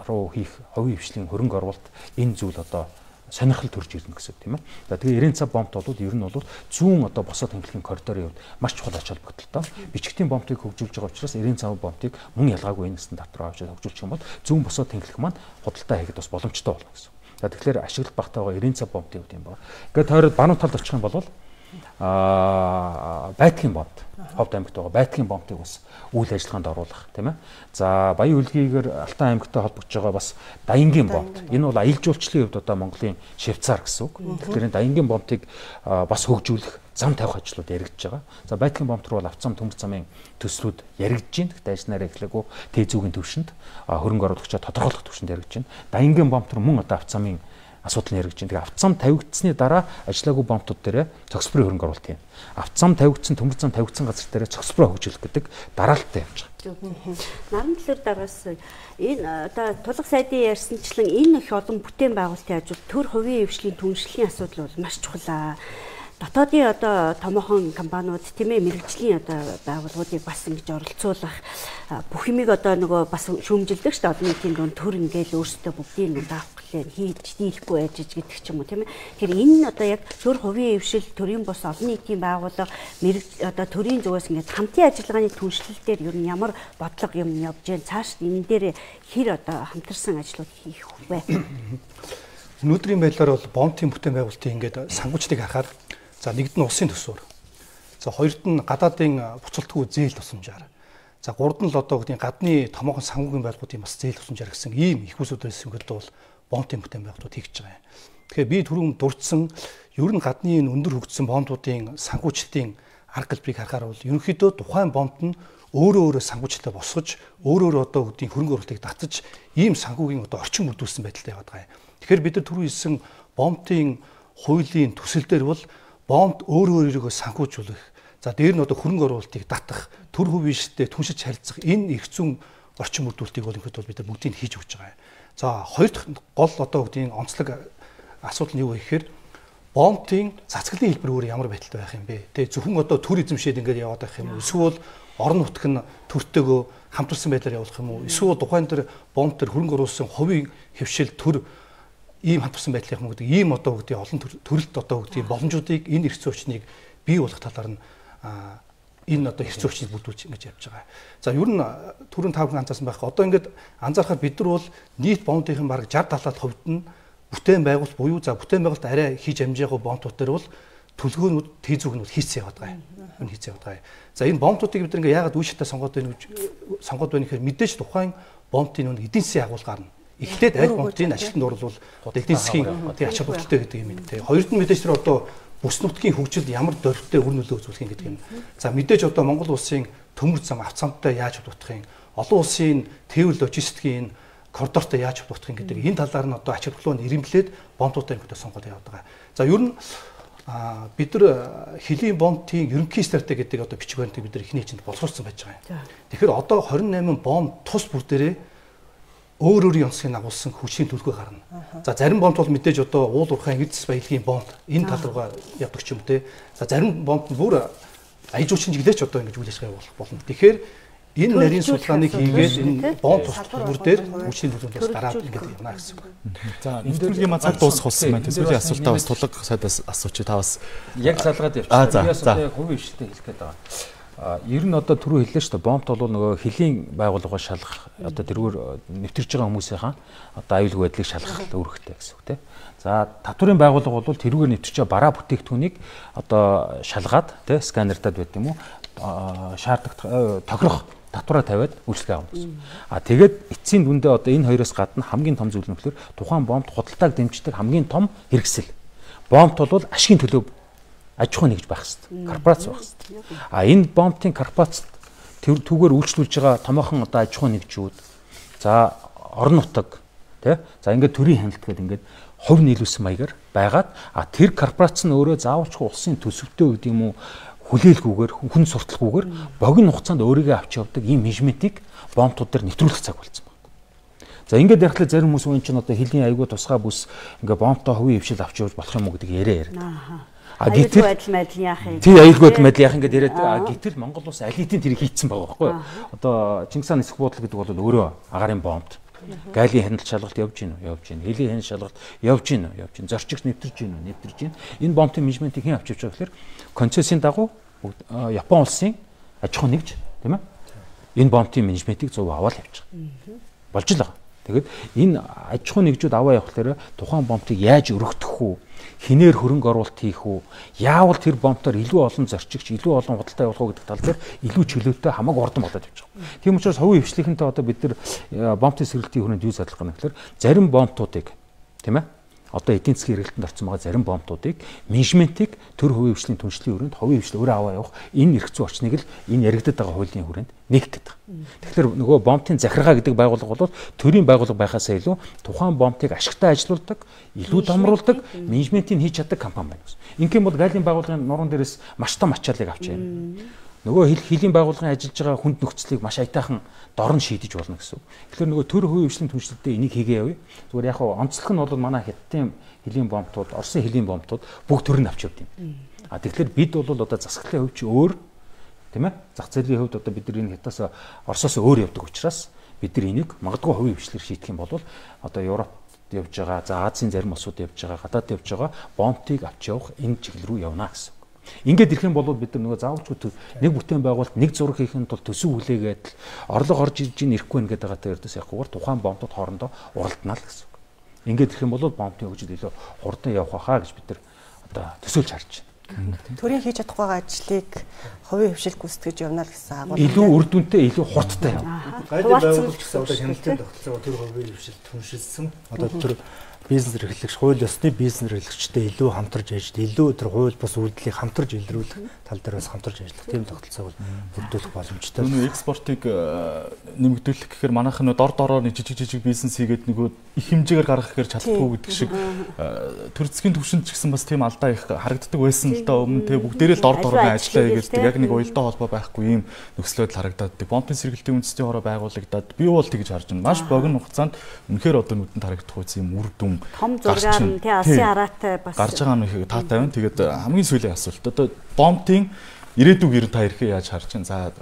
руу хийх хувийн хвшлийн хөрөнгө оруулалт энэ зүйл одоо сонирхол төрж ирнэ гэсэн үг тийм ээ. За тэгээ Иренца бомбт бол ер нь бол зүүн одоо босоод хэмжлэгийн коридорын хувьд маш чухал ач холбогдолтой. Бичгтийн бомбыг хөгжүүлж байгаа учраас Иренца бомбыг мөн ялгаагүй энэ стандарт руу авч хөгжүүлчих юм бол зүүн босоод хэмжлэх маань худалдаа хийхэд бас боломжтой болно гэсэн. За тэгэхээр ашиглах багтаа байгаа Иренца бомбын үед юм байна. Ингээд тойроод баруун талд очих юм бол Байтгийн бомб, Ховд аймагт байгаа Байтгийн бомбыг бас үйл ажиллагаанд оруулах тийм ээ. За Баян Үлгийгээр Алтай аймагтай холбогдож байгаа бас Даянгийн бомб. Энэ бол аялал жуулчлалын хувьд одоо Монголын Швейцар гэсэн үг. Тэгэхээр энэ Даянгийн бомбыг бас хөгжүүлэх, зам тавих ажлууд яригдж байгаа. За Байтгийн бомб руу бол авцам төмөр замын төслүүд яригдж байна. Гэхдээ ажнаараа эхлээгүү Тэзүүгийн төвшөнд хөрөнгө оруулагчаа тодорхойлох төвшөнд яригдж байна. Даянгийн бомб руу мөн одоо авцамын асуудал нь яригдж байна. Тэгээ авцам тавигдсны дараа ажиллаагүй бомбтууд дээр цогцлборын хөрөнгө оруулалт юм. Авцам тавигдсан, төмөр зам тавигдсан газар дээр цогцлбороо хөгжүүлэх гэдэг дараалттай явж байгаа. Наран төлөөр дараас энэ одоо тулах сайдын ярьсанчлан энэ их олон бүтээн байгуулалтын ажил төр хувийн хвшлийн түншлэлийн асуудал бол маш чухал. дотоодын одоо томоохон компаниуд тийм ээ мэрэгжлийн одоо байгууллагуудыг бас ингэж оролцуулах бүх юмыг одоо нөгөө бас шүүмжилдэг шүү дээ. Олон нийтийн дунд төр ингээл өөрсдөө бүгдийг даавхлаа хийж дийлэхгүй байж гэдэг ч юм уу тийм ээ. Тэгэхээр энэ одоо яг төр хувийн хөвшил, төрийн бус олон нийтийн байгууллага мэрэг одоо төрийн зүгээс ингээд хамтын ажиллагааны түншлэл дээр ер нь ямар бодлого юм явж байна? Цааш энэ дээр хэр одоо хамтарсан ажлууд хийх вэ? Өнөөдрийн байдлаар бол бомтын бүтээн байгуулалтын ингээд сангуучдыг харахаар за нэгд нь улсын төсвөр. За хоёрд нь гадаадын буцалтгүй зээл тусламжаар. За гурд нь л одоо гэдэг гадны томоохон санхүүгийн байгууллагуудын бас зээл тусламжаар гэсэн ийм их усуудаас өнгөлдөө бол бомтын бүтээн байгууллагууд хийж байгаа юм. Тэгэхээр би түрүүн дурдсан ер нь гадны өндөр хөгжсөн бомтуудын санхүүжилтийн арга гэлбэрийг харахаар бол ерөнхийдөө тухайн бомт нь өөрөө санхүүжилтээ босгож өөрөө одоо гэдгийг хөрөнгө оруулалтыг татаж ийм санхүүгийн одоо орчин бүрдүүлсэн байдалтай яваад байгаа юм. Тэгэхээр бид нар түрүү хэлсэн бомтын хуулийн төсөл дээр бол бомт өөрийгөө санхүүжүүлэх, за дээр нь одоо хөрөнгө оруулалтыг татах, төр хувийн шилтэд түншиж харилцах энэ их зүүн орчин бүрдүүлэлтийг бол ингээд бид нар бүгдийг хийж өгч байгаа юм. За хоёр дахь гол одоо гэдгийг онцлог асуудал нь юу вэ гэхээр бомтын цацгалын хэлбэр өөр ямар байдалтай байх юм бэ? Тэгээ зөвхөн одоо төр эзэмшээд ингээд яваад байх юм уу? Эсвэл орон нутг нь төртөөгөө хамтарсан байдлаар явуулах юм уу? Эсвэл тухайн тэр бомт төр хөрөнгө оруулсан хувийн хөвшил төр ийм хамтарсан байдлын юм гэдэг ийм одоо гэдэг олон төрөлт одоо гэдэг боломжуудыг энэ эрх зүйн орчныг бий болгох талаар нь энэ одоо эрх зүйн орчныг бүрдүүлж ингэж явж байгаа. За ер нь түрүүн та бүхэн анзаарсан байх. Одоо ингээд анзаархад бид нар бол нийт бомтын бараг 60-70% хувьд нь бүтээн байгуулалт буюу за бүтээн байгуулалт арай хийж амжаагүй бомтууд дээр бол төлгөөнүүд тээзүүгнүүд хийцээ яваад байгаа юм. Энэ хийцээ яваад байгаа. За энэ бомтуудыг бид нар ингээд яагаад үе шатаа сонгоод байна гэхээр мэдээж тухайн бомтын нэг эдийн засгийн агуулгаар нь эхлээд аль бомтын ажилтнанд оруулал эдийн засгийн ач холбогдолтой гэдэг юм. Тэгээ хоёрд нь мэдээж тэр одоо бүс нутгийн хөгжилд ямар дөрвтэй үр нөлөө үзүүлэх юм гэдэг юм. За мэдээж одоо Монгол улсын төмөр зам авцамтай яаж холбогдох юм, олон улсын тээвэр логистикийн коридортой яаж холбогдох юм гэдэг энэ талаар нь одоо ач холбогдлоо нэрэмлээд бомтуудаа ингээд сонгоод яваад байгаа. За ер нь бид нар хөлийн бомтын ерөнхий стратеги гэдэг одоо бичиг баримтыг бид нар эхний хэмжээнд боловсруулсан байж байгаа юм. Тэгэхээр одоо 28 бомт тус бүр дээрээ өөрийн онцлогийг агуулсан хүчийн төлгөө гарна. За зарим бомт бол мэдээж одоо уул уурхайн эд засгийн баялагын бомт энэ тал руугаа явдаг ч юм те. За зарим бомт нь бүр аяжуучин чиглэлч одоо ингэж үйл ажиллагаа явуулах болно. Тэгэхээр энэ нарийн судалгааныг хийгээд энэ бомт тусбар дээр хүчийн төлөвлөлтөөс гараад ингэж явна гэсэн үг. За нэвтрүүлгийн маань цаг дуусах болсон байна. Тэсвэрийн асуултаа бас тулаг сайдаас асуучих та бас яг залгаад явчихсан. Би бас одоо хувийн хвшилтэд хэлэх гээд байгаа. Ер нь одоо түрүү хэллээ шүү дээ. Бомт бол нөгөө хөлийн байгууллагаа шалгах одоо тэргээр нэвтэрж байгаа хүмүүсийнхаа одоо аюулгүй байдлыг шалгах үүрэгтэй гэсэн үг тийм. За татврын байгууллага бол тэрүүгээр нэвтэрч байгаа бараа бүтээгдэхүүнийг одоо шалгаад тийм сканертад байт юм уу шаардлагатай тохирох татвараа тавиад үйлчлэгээ авах гэсэн. Тэгээд эцсийн дүндээ одоо энэ хоёроос гадна хамгийн том зүйл нь болохоор тухайн бомт худалдааг дэмждэг хамгийн том хэрэгсэл. Бомт бол ашигын төлөө аж ахуй нэгж байх хэрэгтэй. Корпорац байх хэрэгтэй. Энэ бомтын корпорацт түүгээр үйлчлүүлж байгаа томоохон одоо аж ахуй нэгжүүд за орон нутаг тий за ингээд төрийн хяналт гэдэг ингээд хувь нийлүүлсэн маягаар байгаад тэр корпорац нь өөрөө заавалчгүй улсын төсөвтэй гэдэг юм уу хүлээлгүйгээр хүн сурталгүйгээр богино хугацаанд өөрийгөө авч явдаг ийм менежментийг бомтууд дээр нэвтрүүлэх цаг болсон байна. За ингээд ярихлаа зарим хүмүүс үн чинь одоо хөлийн аягүй тусгай бүс ингээд бомтоо хувийн хвшил авч явж болох юм уу гэдэг яриа. Гэтэл яах юм? Тий аюулгүй байдал яах ингээд яриад гэтэл Монгол улс алитийн тэрийг хийцэн байгаа байхгүй юу? Одоо Чингис хааны эсэх буудлын гэдэг бол өөрөө агарын бомб. Гайлын хяналт шалгалт явж гин үү? Явж гин. Хөлийн хяналт шалгалт явж гин үү? Явж гин. Зорчигч нэвтэрж гин үү? Нэвтэрж гин. Энэ бомбын менежментийг хэн авч явж байгаа гэхээр концессийн дагуу Япон улсын аж ахуй нэгж тийм ээ? Энэ бомбын менежментийг зөв аваад явж байгаа. Болж л байгаа. Тэгэд энэ аж ахуй нэгжүүд аваа явахлаараа тухайн бомбыг яаж өргөдөх үү? Хинээр хөрөнгө оруулалт хийх үү? Яавал тэр бомбоор илүү олон зорчигч, илүү олон худалдаа явуулах уу гэдэг тал дээр илүү чөлөөтэй хамаагүй ордон болоод явж байгаа. Тийм учраас хувийн хвшлийнхэнтэй одоо бид нар бомбын сэргэлтийн хүрээнд юу задлах гэнэ гэхээр зарим бомбуудыг тийм ээ одоо эдийн засгийн эргэлтэнд орсон байгаа зарим бомбуудыг менежментийг төр хувийн хвшлийн түншлэлийн хүрээнд хувийн хвшил өөрөө аваа явах энэ эрх зүйн орчныг л энэ яригдаад байгаа хуулийн хүрээнд нэгтгэж байгаа. Тэгэхээр нөгөө бомбын захиргаа гэдэг байгууллага бол төрийн байгууллага байхаасаа илүү тухайн бомбыг ашигтай ажилуулдаг, илүү томруулдаг, менежментийг хийж чаддаг компани байна гэсэн. Ингээм бол гайлын байгууллагын нуруунд дээрээс маш том ачааллыг авч байна. Нөгөө хөлийн байгууллагын ажиллаж байгаа хүнд нөхцөлийг маш аятайхан дорн шийдэж болно гэсэн. Тэгэхээр нөгөө төр хувийн хвшлийн түншлэлдээ энийг хийгээ явъя. Зүгээр яг онцлог нь бол манай хятадын хөлийн бомбтууд, Оросын хөлийн бомбтууд бүгд төр нь авч явд юм. Тэгэхээр бид бол одоо засаглалын хувьд чи өөр тийм ээ зах зээлийн хувьд одоо бид нар энэ хятадаас Оросоос өөр явдаг учраас бид нар энийг магадгүй хувийн хвшлэр шийдэх юм бол одоо Европ явж байгаа, за Азийн зарим улсууд явж байгаа, гадаад явж байгаа бомбтыг авч явах энэ чиглэл рүү явна гэсэн. Ингээд ирэх юм бол бид нар нөгөө заавалчгүй нэг бүтээн байгуулалт нэг зураг хийхэд бол төсөв хүлээгээд орлого орж ирж ирэхгүй нэгэд байгаатай ердөөс явахгүйгээр тухайн бомбтууд хоорондоо уралдана л гэсэн. Ингээд ирэх юм бол бомбтын хөгжил илүү хурдан явах хаа гэж бид нар одоо төсөөлж харж байна. Төрийн хийж чадахгүй байгаа ажлыг хувийн хвшил гүйцэтгэж явна л гэсэн агуулга. Илүү үр дүнтэй, илүү хурдтай явна. Гайлын байгууллагч гэсэн одоо хяналтын тогтолцоогоо тэр хувийн хвшил түншилсэн. Одоо тэр бизнес эрхлэгч, хууль ёсны бизнес эрхлэгчтэй илүү хамтарч ажиллаж, илүү тэр хууль бус үйлдэлийг хамтарч илрүүлэх тал дээр бас хамтарч ажиллах тийм тогтолцоог бүрдүүлэх боломжтой. Нөгөө экспортыг нэмэгдүүлэх гэхээр манайх нь дор дороор жижиг бизнес хийгээд нөгөө их хэмжээгээр гаргах гэхээр чаддаггүй гэдэг шиг төр засгийн түвшинд ч гэсэн бас тийм алдаа их харагддаг байсан л да өмнө тэгээ бүгдээрээ л дор дороор ажиллаа гэдэг яг нэг уялдаа холбоо байхгүй ийм нөхцөл байдал харагдаад байдаг. Бомбын сэргэлтийн үндэсний хороо байгуулагдаад би бол тэгж харж байна. Маш богино хугацаанд үнэхээр одоо нүдэнд харагдах үс юм үр дүн том зургаар нь тий Аси хараатай бас гарч байгаа нь их таатай байна. Тэгээд хамгийн сүүлийн асуулт одоо бомбын ирээдүг ер нь та ирэхээ яаж харж байна? За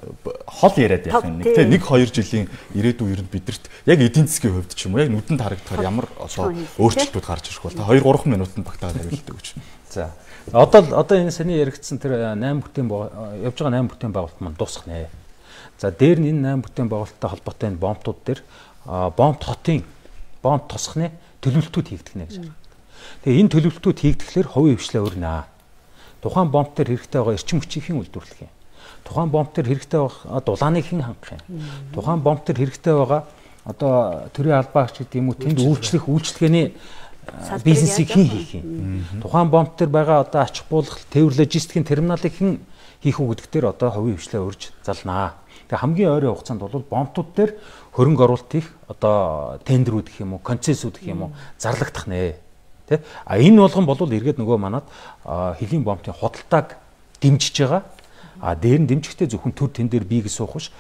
хол яриад явах юм нэг тий 1-2 жилийн ирээдүг ер нь бидэрт яг эдийн засгийн хувьд ч юм уу яг нүдэнд харагдахаар ямар одоо өөрчлөлтүүд гарч ирэх бол та 2-3 минутанд багтаад хариулдаг гэж. За одоо энэ саний яригдсан тэр 8 бүтээн явж байгаа 8 бүтээн байгуулалт маань дуусах нэ. За дээр нь энэ 8 бүтээн байгуулалттай холбоотой энэ бомбтууд дээр бомб хотын бомб тосхны төлөвлөлтүүд хийгдэх нэ гэж байна. Тэгээ энэ төлөвлөлтүүд хийгдэхлээр хувийн хвшлээ өрнө. Тухайн бомб төр хэрэгтэй байгаа эрчим хүчийг хэн үйлдвэрлэх юм? Тухайн бомб төр хэрэгтэй байгаа дулааныг хэн хангах юм? Тухайн бомб төр хэрэгтэй байгаа одоо төрийн албаагч гэдэг юм уу тэнд үйлчлэх үйлчлэгээний бизнесийг хэн хийх юм? Тухайн бомб төр байгаа одоо ач холбогдол тээвэр логистикийн терминалыг хэн хийх үү гэдэг дээр одоо хувийн хвшлээ өрж залнаа. Тэгээ хамгийн ойрын хугацаанд бол бомбтууд дээр хөрөнгө оруулалт их одоо тендерүүд гэх юм уу, концессиуд гэх юм уу зарлагдах нэ. Тэ? Энэ болгон бол эргээд нөгөө манад хэлийн бомбын худалдааг дэмжиж байгаа. Дээр нь дэмжихдээ зөвхөн төр тэн дээр бийг суух биш,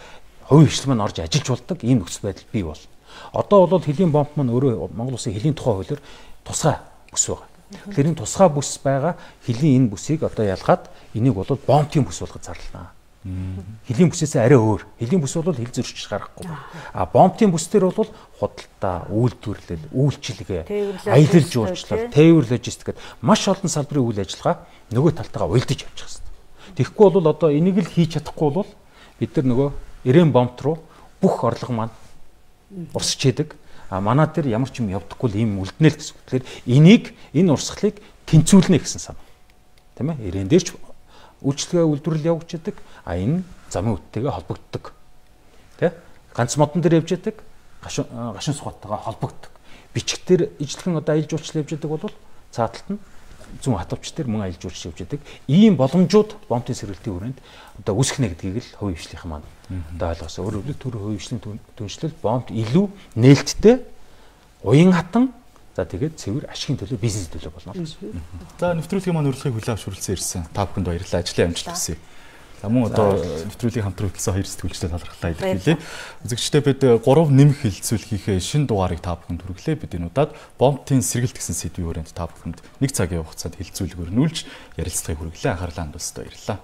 хувийн хвшил маань орж ажиллаж болдог ийм нөхцөл байдал бий бол. Одоо бол хэлийн бомб маань өөрөө Монгол Улсын хэлийн тухай хуулиар тусгай бүс байгаа. Тэгэхээр энэ тусгай бүс байгаа хэлийн энэ бүсийг одоо ялгаад энийг бол бомбын бүс болгож зарлана. Хэлийн бүсээс арай өөр. Хэлийн бүс бол хэл зөрчиж гарахгүй. Бомбын бүс дээр бол худалдаа, үйлдвэрлэл, үйлчилгээ, аялал жуулчлал, тээвэр логистик гэдэг маш олон салбарын үйл ажиллагаа нөгөө талтайгаа уялдаж явчих хэвээр. Тэгэхгүй бол одоо энийг л хийж чадахгүй бол бид нар нөгөө Ирээн бомб руу бүх орлого маань урсч идэг. Манай дээр ямар ч юм явдаггүй л ийм үлднэ л гэсэн. Тэгэхээр энэ урсгалыг тэнцвүүлнэ гэсэн сан. Тийм ээ? Ирээн дээр ч үйлчлэгээ үйлдвэрлэл явагддаг. Энэ замын үттэйгээ холбогддог. Тэ? Ганц модон дээр явж яадаг, гашуун сухаттайгаа холбогддог. Бичгтэр ижлэхэн одоо аялал жуулчлал явж яадаг бол цааталт нь зүүн хатвч дээр мөн аялал жуулчлал явж яадаг. Ийм боломжууд бомбын сэргэлтийн хүрээнд одоо үүсгэнэ гэдгийг л хувийн хвшлийн маань одоо ойлгосоо. Өөрөөр хэлбэл төр хувийн хвшлийн түншлэл бомб илүү нээлттэй, уян хатан за тэгээд цэвэр ашигын төлөө бизнес төлөө болно гэсэн. За нэвтрүүлгийн маань урилгыг хүлээн авчруулсан ирсэн. Та бүхэнд баярлалаа. Ажлын амжилт хүсье. За мөн одоо нэвтрүүлгийн хамтран хөтлсөн хоёр сэтгүүлчтэй талархлаа илэрхийлье. Үзэгчдээ бид 3 нэмэх хэлэлцүүлгийнхээ шинэ дугаарыг та бүхэнд хүргэлээ. Бид энэ удаад бомбын сэргэлт гэсэн сэдвийн хүрээнд та бүхэнд 1 цагийн хугацаанд хэлэлцүүлэг өрнүүлж ярилцлагыг хүргэлээ. Анхаарлаа хандуулсад баярлалаа.